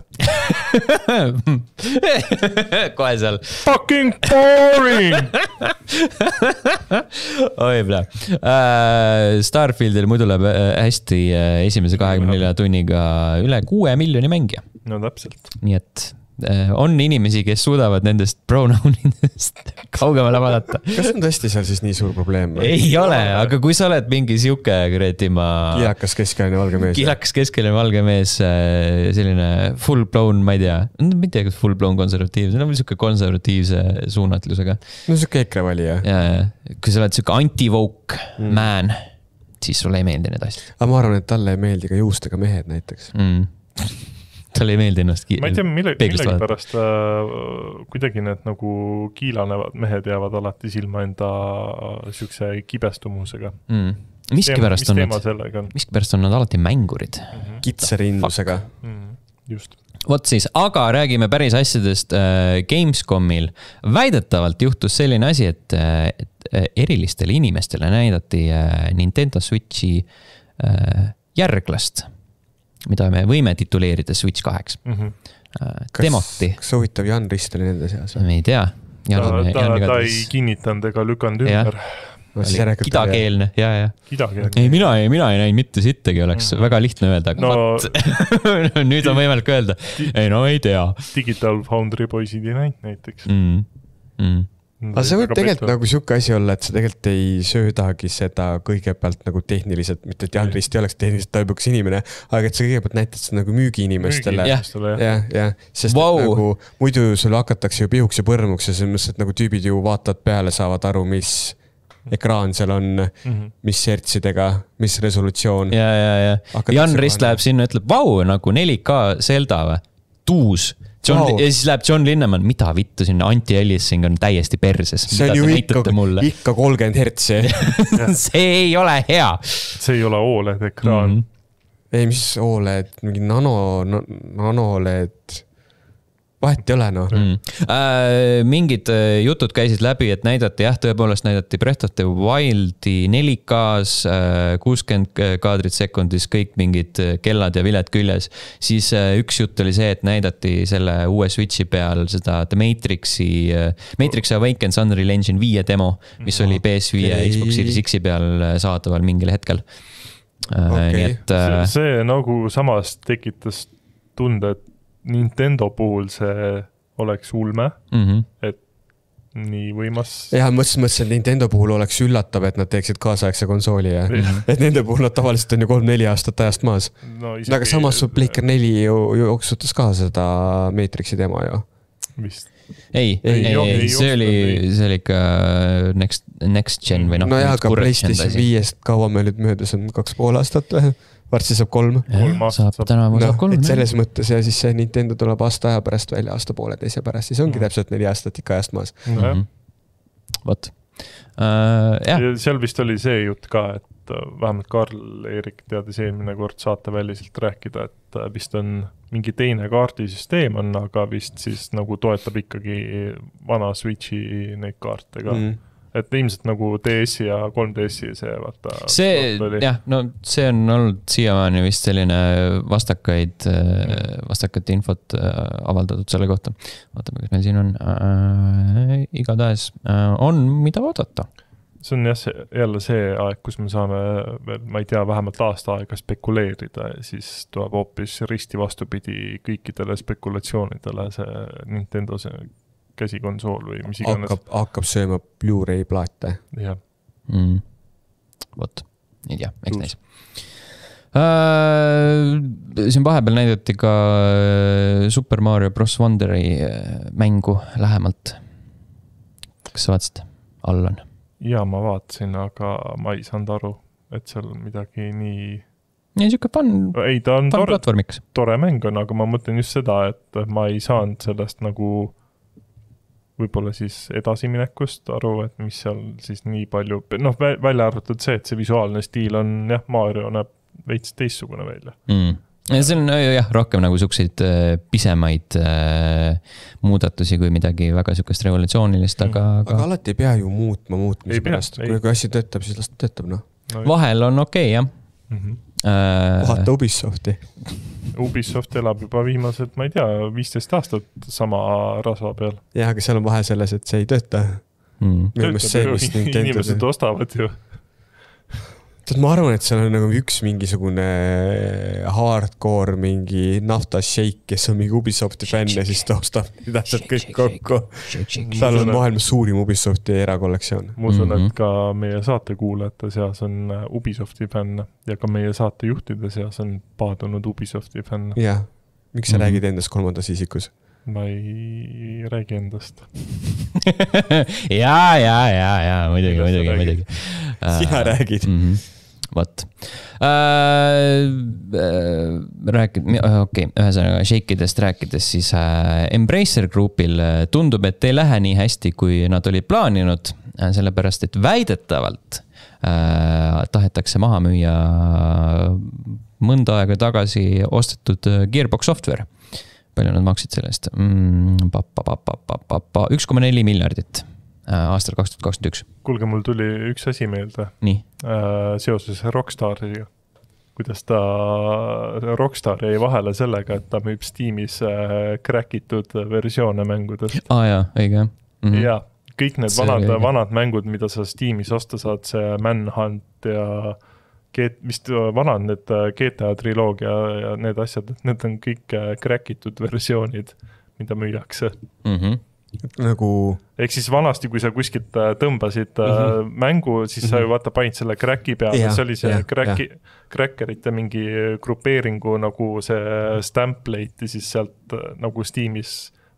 Kohe seal. Fucking boring! Oi, plee. Uh, Starfieldil muidu läheb hästi esimese kahekümne nelja tunniga üle kuue miljoni mängija. No täpselt. Nii et on inimesi, kes suudavad nendest pronounidest kaugemale vaadata. Kas on tõesti seal siis nii suur probleem? Ei ole, aga kui sa oled mingi siuke kuradi ma... Kilakas keskeline valge mees. Kilakas keskeline valge mees, selline full blown, ma ei tea, ma ei tea, kas full blown konservatiivse, no siuke konservatiivse suunatlusega. No siuke EKRE valija. Ja, kui sa oled siuke anti-woke mm. man, siis sulle ei meeldi need asjad. Aga ma arvan, et talle ei meeldi ka juustega mehed näiteks. Mm. Tal ei meeldi ennast ma ei tea, mille, millegi pärast äh, kuidagi need nagu kiilanevad mehed jäävad alati silma enda siukse kibestumusega. Mm. Miski pärast on nad, miski pärast on nad alati mängurid. Mm-hmm. Kitsarinnusega. Mm, just. Vot siis, aga räägime päris asjadest äh, Gamescomil. Väidetavalt juhtus selline asi, et, et erilistele inimestele näidati äh, Nintendo Switchi äh, järglast, mida me võime tituleerida Switch kaheks. Mm-hmm. Demoti. Kas soovitab Jan Rist oli nende seas? Me ei tea. Jan, ta ta, Jan ta ei kinnitanud ega lükanud ümber. Kidakeelne, ja, ja. Kidakeelne. Ei, mina ei, mina ei näinud mitte sittegi, oleks mm-hmm. väga lihtne öelda. No, nüüd on võimalik öelda. Ei, no ei tea. Digital Foundry poisid ei näinud näiteks. Mm. Mm. Aga see võib tegelikult nagu siuke asi olla, et sa tegelikult ei söödagi seda kõigepealt nagu tehniliselt, mitte et Jan Rist ei oleks tehniliselt taibukas inimene, aga et sa kõigepealt näitad seda nagu müügiinimestele. Müügiinimestele, jah. Ja, ja, sest wow. nagu muidu sulle hakatakse ju pihuks ja põrmuks ja selles mõttes, et nagu tüübid ju vaatavad peale, saavad aru, mis ekraan seal on, mm-hmm. mis sertsidega, mis resolutsioon. Ja, ja, ja. Jan Rist läheb sinna ja ütleb, vau, nagu neli K Zelda või? Tuus. John, wow. Ja siis läheb John Linnemann, mida vittu sinna anti-aliasing on täiesti perses. See on ju ikka, ikka kolmkümmend hertsi. See ei ole hea. See ei ole O L E D-ekraan. Mm-hmm. Ei, mis O L E D, mingi nano, nano O L E D. Vahet ei ole, noh. Mm. Äh, mingid jutud käisid läbi, et näidati, jah, tõepoolest näidati Breath of the Wildi neli K-s, kuuskümmend kaadrit sekundis, kõik mingid kellad ja viled küljes. Siis üks jutt oli see, et näidati selle uue Switchi peal seda The Matrixi, Matrix Awakens Unreal Engine viie demo, mis oli P S viie okay. Xbox Series X-i peal saadaval mingil hetkel. Okay. Nii et, see, see nagu samas tekitas tunde, et Nintendo puhul see oleks ulme, mm-hmm. et nii võimas. Ja mõtlesin, mõtlesin, et Nintendo puhul oleks üllatav, et nad teeksid kaasaegse konsooli ja mm-hmm. et nende puhul nad tavaliselt on ju kolm-neli aastat ajast maas. No, isegi... Aga samas su Playker neli ju, ju jooksutas ka seda Matrixi demo ju. Vist. Ei, ei, ei, ei, see oli, see oli ikka next, next gen või noh. No jah, aga PlayStation viiest kaua me nüüd möödas on kaks pool aastat või? Varsti saab kolm. kolm aastat saab. Täna saab kolm. Et selles mõttes ja siis see Nintendo tuleb aasta aja pärast välja, aasta poole teise pärast, siis ongi mm. täpselt neli aastat ikka ajast maas. Mm-hmm. Vot. Uh, ja. Seal vist oli see jutt ka, et vähemalt Karl-Erik teadis eelmine kord saateväliselt rääkida, et vist on mingi teine kaardisüsteem on, aga vist siis nagu toetab ikkagi vana Switchi neid kaarte ka. Mm. Et ilmselt nagu D S-i ja kolm D S-i see vaata. See, jah, no see on olnud siiamaani vist selline vastakaid, vastakaid infot avaldatud selle kohta. Vaatame, kas meil siin on. Äh, igatahes äh, on, mida vaadata. See on jah, see, jälle see aeg, kus me saame veel, ma ei tea, vähemalt aasta aega spekuleerida ja siis tuleb hoopis risti vastupidi kõikidele spekulatsioonidele see Nintendo see käsikonsool või mis iganes. Hakkab, hakkab sööma Blu-ray plaate. Jah. Mm. Vot, ei tea, eks näis. Uh, siin vahepeal näidati ka Super Mario Bros. Wonderi mängu lähemalt. Kas sa vaatasid? All on. Ja ma vaatasin, aga ma ei saanud aru, et seal midagi nii ja siuke fun, ei, ta on fun tore, platvormiks. tore mäng on, aga ma mõtlen just seda, et ma ei saanud sellest nagu võib-olla siis edasiminekust aru, et mis seal siis nii palju, noh, välja arvatud see, et see visuaalne stiil on, jah, Mario näeb veits teistsugune välja. Mm. See on jah, rohkem nagu sukseid pisemaid äh, muudatusi kui midagi väga sukest revolutsioonilist, aga, aga... aga alati ei pea ju muutma muutmise pärast. Kui, kui asi töötab, siis las töötab, noh. No, vahel on okei, okay, jah. Mm-hmm. Äh... Vahata Ubisofti. Ubisoft elab juba viimased, ma ei tea, viisteist aastat sama rasva peal. Jah, aga seal on vahe selles, et see ei tööta. Mm. Töötab see, ju, inimesed ostavad ju. Tead, ma arvan, et seal on nagu üks mingisugune hardcore mingi naftasheik, kes on mingi Ubisofti fänn ja siis ta ostab täpselt kõik kokku. Seal on maailmas suurim Ubisofti erakollektsioon. Ma usun, et ka meie saatekuulajate seas on Ubisofti fänn ja ka meie saatejuhtide seas on paadunud Ubisofti fänn. Jah, miks sa mm-hmm. räägid endast kolmandas isikus? Ma ei räägi endast. ja, ja, ja, ja, muidugi, muidugi, muidugi. Sina räägid. Mm-hmm. Vot. Äh, äh, rääkid, okei, okay, ühesõnaga shakeidest rääkides, siis äh, Embracer Groupil tundub, et ei lähe nii hästi, kui nad olid plaaninud, sellepärast, et väidetavalt äh, tahetakse maha müüa mõnda aega tagasi ostetud Gearbox Software. Palju nad maksid sellest? Mm, pa, pa, pa, pa, pa, pa, üks koma neli miljardit aastal kaks tuhat kakskümmend üks. Kuulge, mul tuli üks asi meelde. Nii. Seoses Rockstariga. Kuidas ta Rockstar jäi vahele sellega, et ta müüb Steamis crackitud versioone mängudest. Aa ah, jaa, õige. Mm-hmm. Ja, kõik need vanad, vanad mängud, mida sa Steamis osta saad, see Manhunt ja vist vanad need G T A triloogia ja need asjad, et need on kõik crackitud versioonid, mida müüakse. Mhm. Nagu... Ehk siis vanasti, kui sa kuskilt tõmbasid mm-hmm. mängu, siis mm-hmm. sa ju vaata panid selle cracki peale, yeah, see oli see yeah, cracki, yeah. crackerite mingi grupeeringu nagu see stamplate ja siis sealt nagu Steamis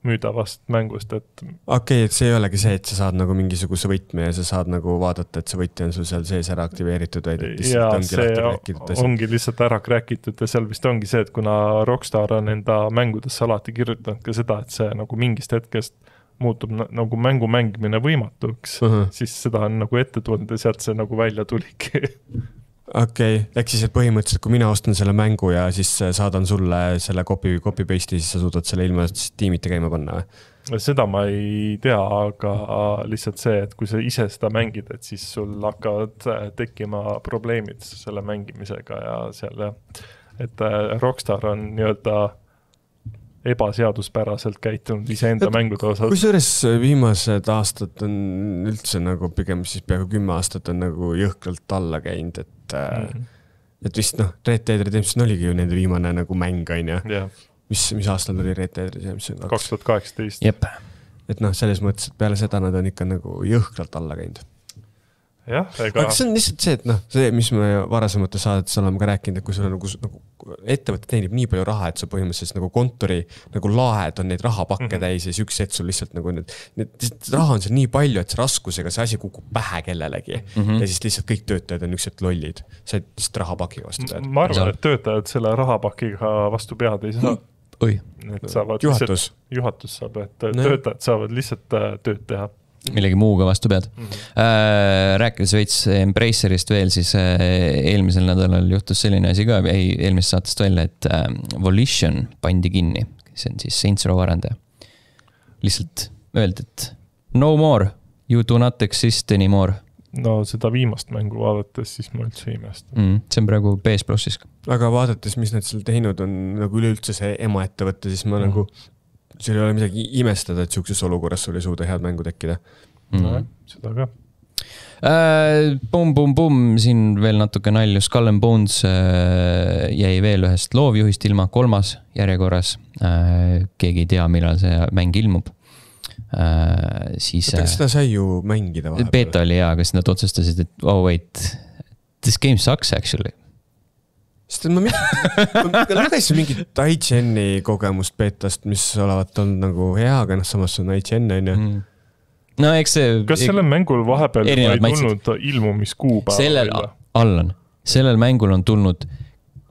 müüdavast mängust, et... Okei, okay, et see ei olegi see, et sa saad nagu mingisuguse võtme ja sa saad nagu vaadata, et see võtja on sul seal sees ära aktiveeritud, vaid et ja see ongi lihtsalt ära crackitud ja seal vist ongi see, et kuna Rockstar on enda mängudesse alati kirjutanud ka seda, et see nagu mingist hetkest muutub nagu mängu mängimine võimatuks, uh-huh. siis seda on nagu ette tulnud ja sealt see nagu välja tuliki. Okei, okay. Ehk siis, et põhimõtteliselt, kui mina ostan selle mängu ja siis saadan sulle selle copy, copy paste'i, siis sa suudad selle ilma tiimite käima panna? Seda ma ei tea, aga lihtsalt see, et kui sa ise seda mängid, et siis sul hakkavad tekkima probleemid selle mängimisega ja seal, et Rockstar on nii-öelda ebaseaduspäraselt käitunud iseenda mängude osas. Kusjuures viimased aastad on üldse nagu pigem siis peaaegu kümme aastat on nagu jõhkralt alla käinud, et, mm. et vist noh, Red Dead Redemption oligi ju nende viimane nagu mäng, on ju. Yeah. Mis, mis aastal oli Red Dead Redemption? kaks tuhat kaheksateist. Jep. Et noh, selles mõttes, et peale seda nad on ikka nagu jõhkralt alla käinud. Jah, ega... Aga see on lihtsalt see, et noh, see, mis me varasemate saadetes oleme ka rääkinud, et kui sul nagu, nagu ettevõte teenib nii palju raha, et sa põhimõtteliselt nagu kontori nagu laed on neid rahapakke mm-hmm. täis ja siis üks hetk sul lihtsalt nagu need, need raha on seal nii palju, et see raskusega see asi kukub pähe kellelegi mm-hmm. ja siis lihtsalt kõik töötajad on üks hetk lollid. See lihtsalt rahapakiga vastu pead. Ma arvan, et töötajad selle rahapakiga vastu pead ei saa. Oi. Et saavad juhatus. Lihtsalt, juhatus saab, et no. töötajad saavad lihtsalt tööd teha. Millegi muuga vastu pead. Mm-hmm. Äh, rääkides veits Embracerist veel, siis äh, eelmisel nädalal juhtus selline asi ka, ei eelmisest saatest välja, et äh, Volition pandi kinni. See on siis Saints Row arendaja. Lihtsalt öeldi, et no more, you do not exist anymore. No seda viimast mängu vaadates, siis ma üldse ei imesta. Mm, see on praegu P S Plussis. Aga vaadates, mis nad seal teinud on nagu üleüldse see ema ettevõtte, siis ma mm. nagu... Seal ei ole midagi imestada, et siukses olukorras sul ei suuda head mängu tekkida. Mm. No, seda ka. Äh, bum, bum, bum, siin veel natuke nalju. Skull and Bones äh, jäi veel ühest loovjuhist ilma, kolmas järjekorras. Äh, keegi ei tea, millal see mäng ilmub. Äh, siis, Võtta, seda sai ju mängida vahepeal. Beta oli hea, kas nad otsustasid, et oh wait, this game sucks actually. Sest ma, ma lugesin mingit I G N-i kogemust betast, mis olevat olnud nagu hea, aga noh, samas on I G N, on ju. Mm. No, eks see... Kas sellel mängul vahepeal ei tulnud ilmumiskuu päeva? Sellel, Allan, sellel mängul on tulnud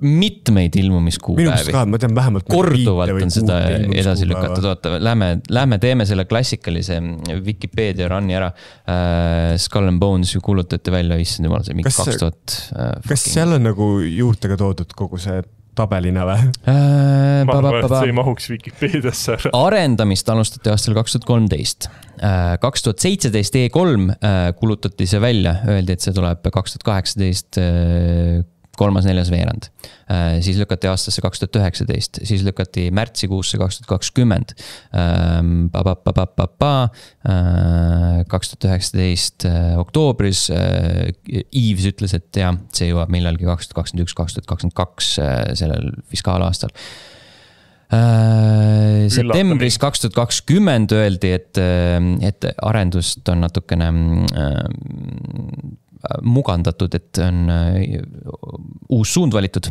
mitmeid minu ilmumiskuupäevi. mõttes ka, ma tean vähemalt korduvalt on seda edasi lükatud. Oota, lähme, lähme teeme selle klassikalise Wikipedia run'i ära. Uh, Skull and Bones ju kuulutati välja, issand jumal, see mingi Kas- kaks tuhat. Uh, kas seal on nagu juurtega toodud kogu see tabelina või? Uh, ma arvan, et see ei mahuks Wikipediasse ära. Arendamist alustati aastal kaks tuhat kolmteist. kaks tuhat seitseteist E kolm kulutati see välja, öeldi, et see tuleb kaks tuhat kaheksateist kolmas, neljas veerand. Siis lükati aastasse kaks tuhat üheksateist, siis lükati märtsikuusse kaks tuhat kakskümmend. kaks tuhat üheksateist oktoobris Eves ütles, et jah, see jõuab millalgi kaks tuhat kakskümmend üks, kaks tuhat kakskümmend kaks sellel fiskaalaastal. Septembris kaks tuhat kakskümmend öeldi, et, et arendust on natukene mugandatud, et on uus suund valitud,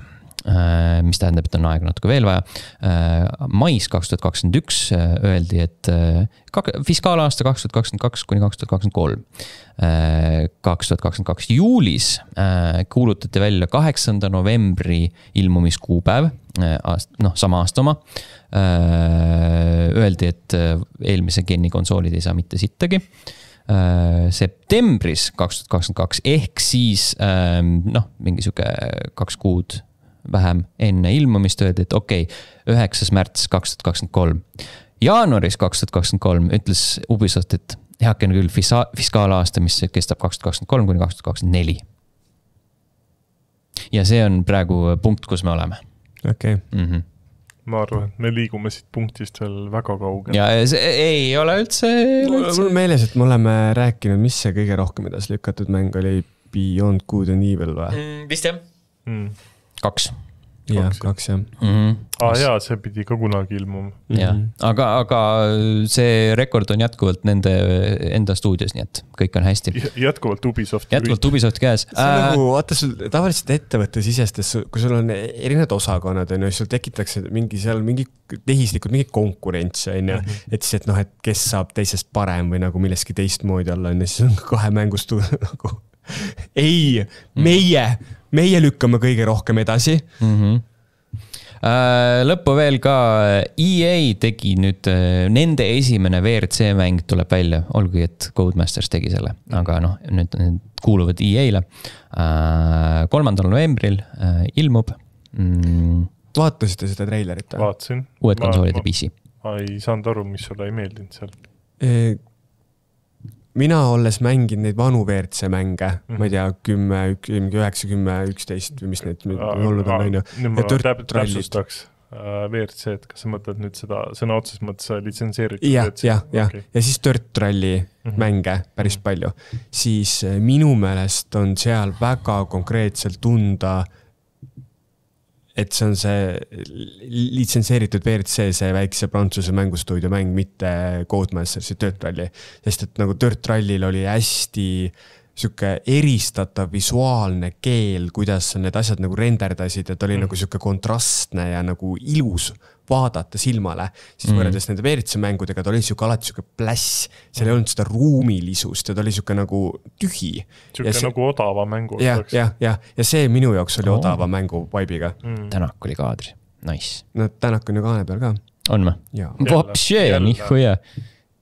mis tähendab, et on aega natuke veel vaja. Mais kaks tuhat kakskümmend üks öeldi, et fiskaalaasta kaks tuhat kakskümmend kaks kuni kaks tuhat kakskümmend kolm. kaks tuhat kakskümmend kaks juulis kuulutati välja kaheksanda novembri ilmumiskuupäev, noh, sama aasta oma. Öeldi, et eelmise geni konsoolid ei saa mitte sittagi. Septembris kaks tuhat kakskümmend kaks ehk siis noh, mingi siuke kaks kuud vähem enne ilmumist öeldi, et okei, üheksas märts kaks tuhat kakskümmend kolm. Jaanuaris kaks tuhat kakskümmend kolm ütles Ubisoft, et heaken küll fisa- fiskaalaasta, mis kestab kaks tuhat kakskümmend kolm kuni kaks tuhat kakskümmend neli. Ja see on praegu punkt, kus me oleme. Okei. Okay. Mm-hmm. Ma arvan, et me liigume siit punktist veel väga kaugel. Ja see ei ole üldse... Mul on meeles, et me oleme rääkinud, mis see kõige rohkem edasi lükatud mäng oli Beyond Good and Evil või? Mm, vist jah. Mm. Kaks. Jah, kaks jah. Mm-hmm. Ah, jaa, see pidi ka kunagi ilmuma. Ja. aga, aga see rekord on jätkuvalt nende enda stuudios, nii et kõik on hästi. Jätkuvalt Ubisoft. Jätkuvalt Ubisoft käes. See on nagu, vaata sul tavaliselt ettevõtte sisestes, kui sul on erinevad osakonnad, on ju, sul tekitakse mingi seal mingi tehislikud, mingi konkurents, on ju, et siis, et noh, et kes saab teisest parem või nagu milleski teistmoodi olla, on ju, siis on kahe mängustu nagu ei, meie, meie lükkame kõige rohkem edasi. Mm-hmm. Lõppu veel ka E A tegi nüüd, nende esimene V R C mäng tuleb välja, olgugi et Codemasters tegi selle, aga noh, nüüd kuuluvad E A-le. kolmandal novembril ilmub. Vaatasite seda treilerit? Vaatasin. Uued konsoolid ja P C. Ma ei saanud aru, mis sulle ei meeldinud seal. Mina olles mängin neid vanu V R C mänge, mm-hmm. ma ei tea, kümme, üheksa, kümme, üksteist või mis need olnud on, on ju. Nüüd ma täpsustaks V R C, et kas sa mõtled nüüd seda sõna otses mõttes litsenseeritud? Jah, jah, jah. Ja siis Dirt Rally mm-hmm. mänge päris palju. Siis minu meelest on seal väga konkreetselt tunda, et see on see litsenseeritud V R C, see väikse Prantsuse mängustuudio mäng, mitte Codemastersi Dirt Rally. Sest et nagu Dirt Rallil oli hästi siuke eristatav visuaalne keel, kuidas need asjad nagu renderdasid, et oli mm. nagu siuke kontrastne ja nagu ilus vaadata silmale. Siis mm. võrreldes nende V R C mängudega, ta oli siuke alati siuke pläss, seal ei olnud seda ruumilisust ja ta oli siuke nagu tühi. Siuke see, nagu odava mängu. Ja, ja, ja, ja see minu jaoks oli oh. odava mängu vaibiga. Mm. Tänak oli kaadri. Nice. No Tänak on ju kaane peal ka. On ma? Vapšee, nihuja.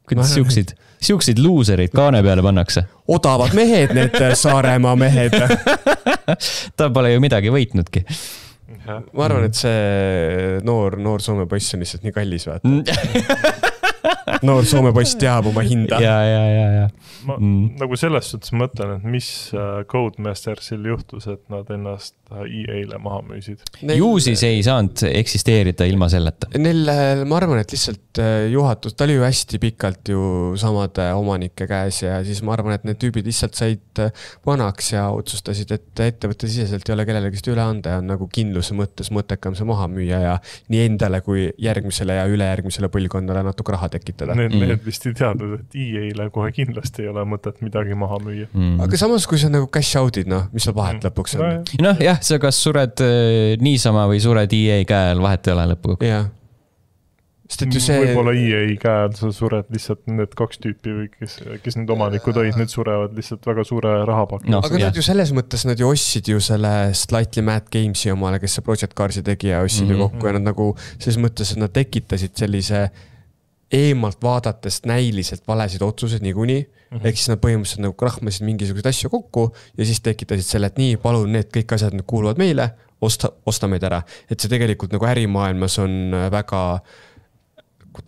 Kuidas siuksid, siuksid luuserid kaane peale pannakse? Odavad mehed, need Saaremaa mehed. Ta pole ju midagi võitnudki. Ma arvan, et see noor, noor Soome poiss on lihtsalt nii kallis, vaata. Noor Soome poiss teab oma hinda. Ja, ja, ja, ja. Ma mm. nagu selles suhtes mõtlen, et mis Codemastersil juhtus, et nad ennast E A-le maha müüsid. Ju siis ei saanud eksisteerida ilma selleta. Neil, ma arvan, et lihtsalt juhatus, ta oli ju hästi pikalt ju samade omanike käes ja siis ma arvan, et need tüübid lihtsalt said vanaks ja otsustasid, et ettevõtte siseselt ei ole kellelegist üle anda ja on nagu kindluse mõttes mõttekam see maha müüa ja nii endale kui järgmisele ja ülejärgmisele põlvkonnale natuke raha tekitada. Need, mm. need vist ei teadnud, et E A-le kohe kindlasti ei ole mõtet midagi maha müüa. Mm. Aga samas, kui sa nagu cash out'id, noh, mis seal vahet lõpuks on? No, noh, jah, sa kas sured äh, niisama või sured E A käel, vahet ei ole lõpuga. Jah. Sest et ju see... Võib-olla E A käed, sa sured lihtsalt need kaks tüüpi või kes, kes need omanikud olid, need surevad lihtsalt väga suure rahapaki. No, aga nad ju selles mõttes, nad ju ostsid ju selle Slightly Mad Gamesi omale, kes see Project Carsi tegi ja ostsid mm-hmm. ju kokku ja nad nagu selles mõttes, et nad tekitasid sellise eemalt vaadatest näiliselt valesid otsused niikuinii. Mm-hmm. Ehk siis nad põhimõtteliselt nagu krahmasid mingisuguseid asju kokku ja siis tekitasid selle, et nii, palun, need kõik asjad nüüd kuuluvad meile, osta, osta meid ära. Et see tegelikult nagu ärimaailmas on väga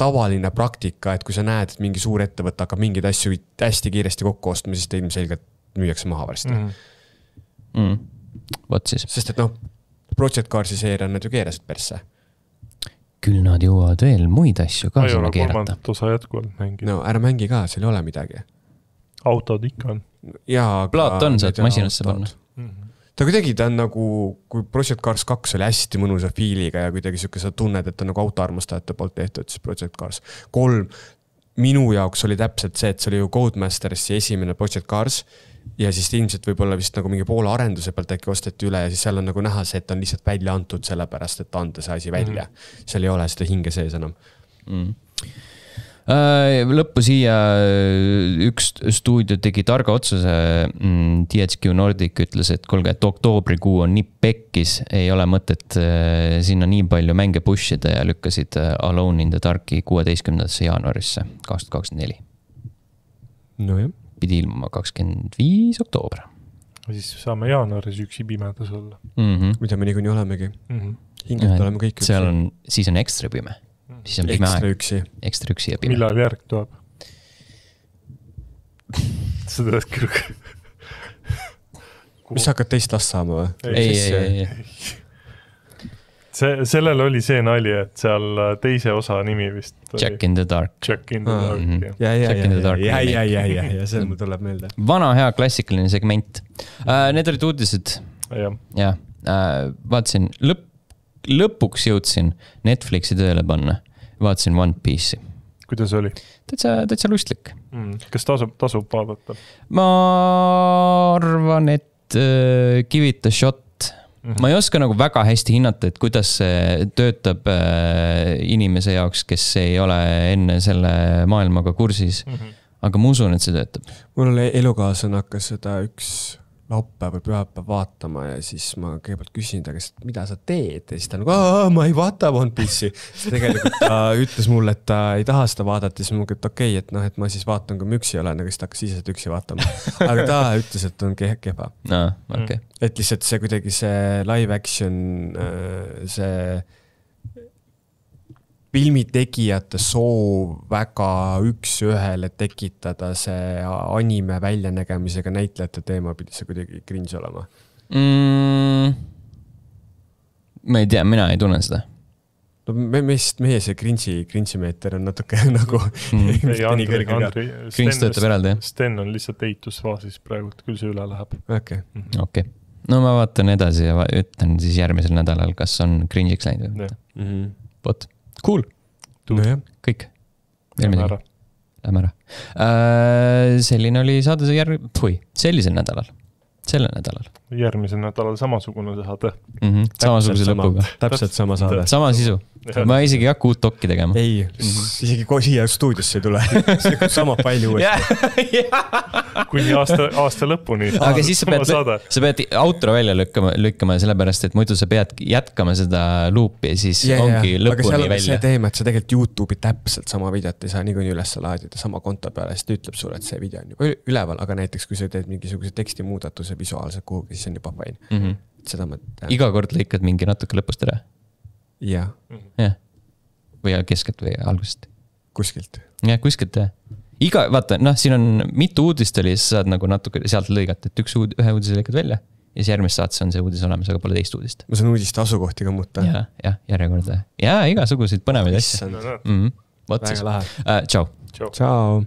tavaline praktika, et kui sa näed, et mingi suur ettevõte hakkab mingeid asju hästi kiiresti kokku ostma, siis ta ilmselgelt müüakse maha varsti. Mm. Mm. Võt siis. Sest et noh, Project Carsi seeria nad ju keerasid persse. Küll nad jõuavad veel muid asju ka sinna keerata. Osa jätkuvalt mängi. No ära mängi ka, seal ei ole midagi. Autod ikka on. Ja, plaat on sealt masinasse panna. Mm-hmm. Ta kuidagi ta on nagu, kui Project Cars kaks oli hästi mõnusa fiiliga ja kuidagi siuke sa tunned, et ta nagu autoarmastajate poolt tehtud, siis Project Cars kolm minu jaoks oli täpselt see, et see oli ju Codemastersi esimene Project Cars ja siis ilmselt võib-olla vist nagu mingi poole arenduse pealt äkki osteti üle ja siis seal on nagu näha see, et on lihtsalt välja antud sellepärast, et anda see asi välja. Mm. Seal ei ole seda hinge sees enam. Mm. Lõppu siia üks stuudio tegi targa otsuse, T H Q Nordic ütles, et kolge, et oktoobrikuu on nii pekkis, ei ole mõtet sinna nii palju mänge pushida ja lükkasid Alone in the Darki kuueteistkümnendasse jaanuarisse kaks tuhat kakskümmend neli. No jah. Pidi ilmuma kakskümmend viis oktoober. Siis saame jaanuaris üks ibimedas olla. Mm-hmm. Mida me niikuinii olemegi. Mm-hmm. Hingelt oleme kõik üksi. Seal on, siis on ekstra pime. Siis on pime ekstra üksi. Ekstra üksi ja pime. Millal järg tuleb? Seda et küll. Mis hakkad teist last saama või? Ei, ei, ei, ei. See, sellel oli see nali, et seal teise osa nimi vist Jack in the Dark. Jack in the Dark, mm -hmm. ja. Ja, ja, ja, ja, ja, ja, ja, ja, see mul tuleb meelde. Vana hea klassikaline segment. Uh, need olid uudised. Ja, ja. Uh, vaatasin, lõpp, lõpuks jõudsin Netflixi tööle panna. Vaatasin One Piece'i. Kuidas oli? Täitsa, täitsa lustlik. Mm. Kas tasub, tasub vaadata? Ma arvan, et uh, give it a shot. Mm-hmm. Ma ei oska nagu väga hästi hinnata, et kuidas see töötab uh, inimese jaoks, kes ei ole enne selle maailmaga kursis. Mm-hmm. Aga ma usun, et see töötab. Mul oli elukaaslane hakkas seda üks laupäev või pühapäev vaatama ja siis ma kõigepealt küsin ta, kes, mida sa teed? Ja siis ta nagu, ma ei vaata One Piece'i. Siis tegelikult ta ütles mulle, et ta ei taha seda vaadata. Siis ma mõtlen, et okei, okay, et, noh, et ma siis vaatan, kui ma üksi olen, aga siis ta hakkas ise seda üksi vaatama. Aga ta ütles, et on kehva. No, okay. Et lihtsalt see kuidagi see live action, see filmitegijate soov väga üks ühele tekitada see anime väljanägemisega näitlejate teema pidi see kuidagi cringe olema. Mm, ma ei tea, mina ei tunne seda. No me, meist, meie see cringe'i, cringe'i meeter on natuke nagu mm. ei, Andri, Andri, Cringe töötab eraldi, jah? Sten on lihtsalt eitusfaasis praegu, küll see üle läheb. Okay. Mm-hmm. Okay. No ma vaatan edasi ja ütlen siis järgmisel nädalal, kas on cringe'iks läinud või mitte. Mm-hmm. Vot. Cool. No jah. Kõik. Lähme ära. Lähme ära. Äh, selline oli saade see järg... Pui, sellisel nädalal. Sellel nädalal. Järgmisel nädalal samasugune saade. Mm-hmm. Samasuguse lõpuga. Täpselt sama saade. Sama sisu. Ma isegi ei hakka uut dokki tegema. Ei, mm-hmm. isegi siia stuudiosse ei tule. See sama palju uuesti. Kuni aasta, aasta lõpuni. Aga siis sa pead, sa pead outro välja lükkama, lükkama sellepärast, et muidu sa pead jätkama seda loopi ja siis ja, ongi ja. Lõpuni välja. Aga seal on see teema, et sa tegelikult YouTube'i täpselt sama videot ei saa nii kuni üles laadida sama konto peale, siis ta ütleb sulle, et see video on juba üleval, aga näiteks kui sa teed mingisuguse tekstimuudatuse visuaalselt kuhugi, siis on juba fine. Mm-hmm. Seda ma tean. Iga kord lõikad mingi natuke lõpust ära? Jah. Jah. Või keskelt või algusest? Kuskilt. Jah, kuskilt, jah. Iga, vaata, noh, siin on mitu uudist oli, siis saad nagu natuke sealt lõigata, et üks uud, ühe uudise lõikad välja ja siis järgmist saates on see uudis olemas, aga pole teist uudist. Ma saan uudiste asukohti ka muuta. Ja, jah, järjekorda. Ja igasuguseid põnevaid asja. Mm-hmm. Väga lahe. Uh, tšau. Tšau.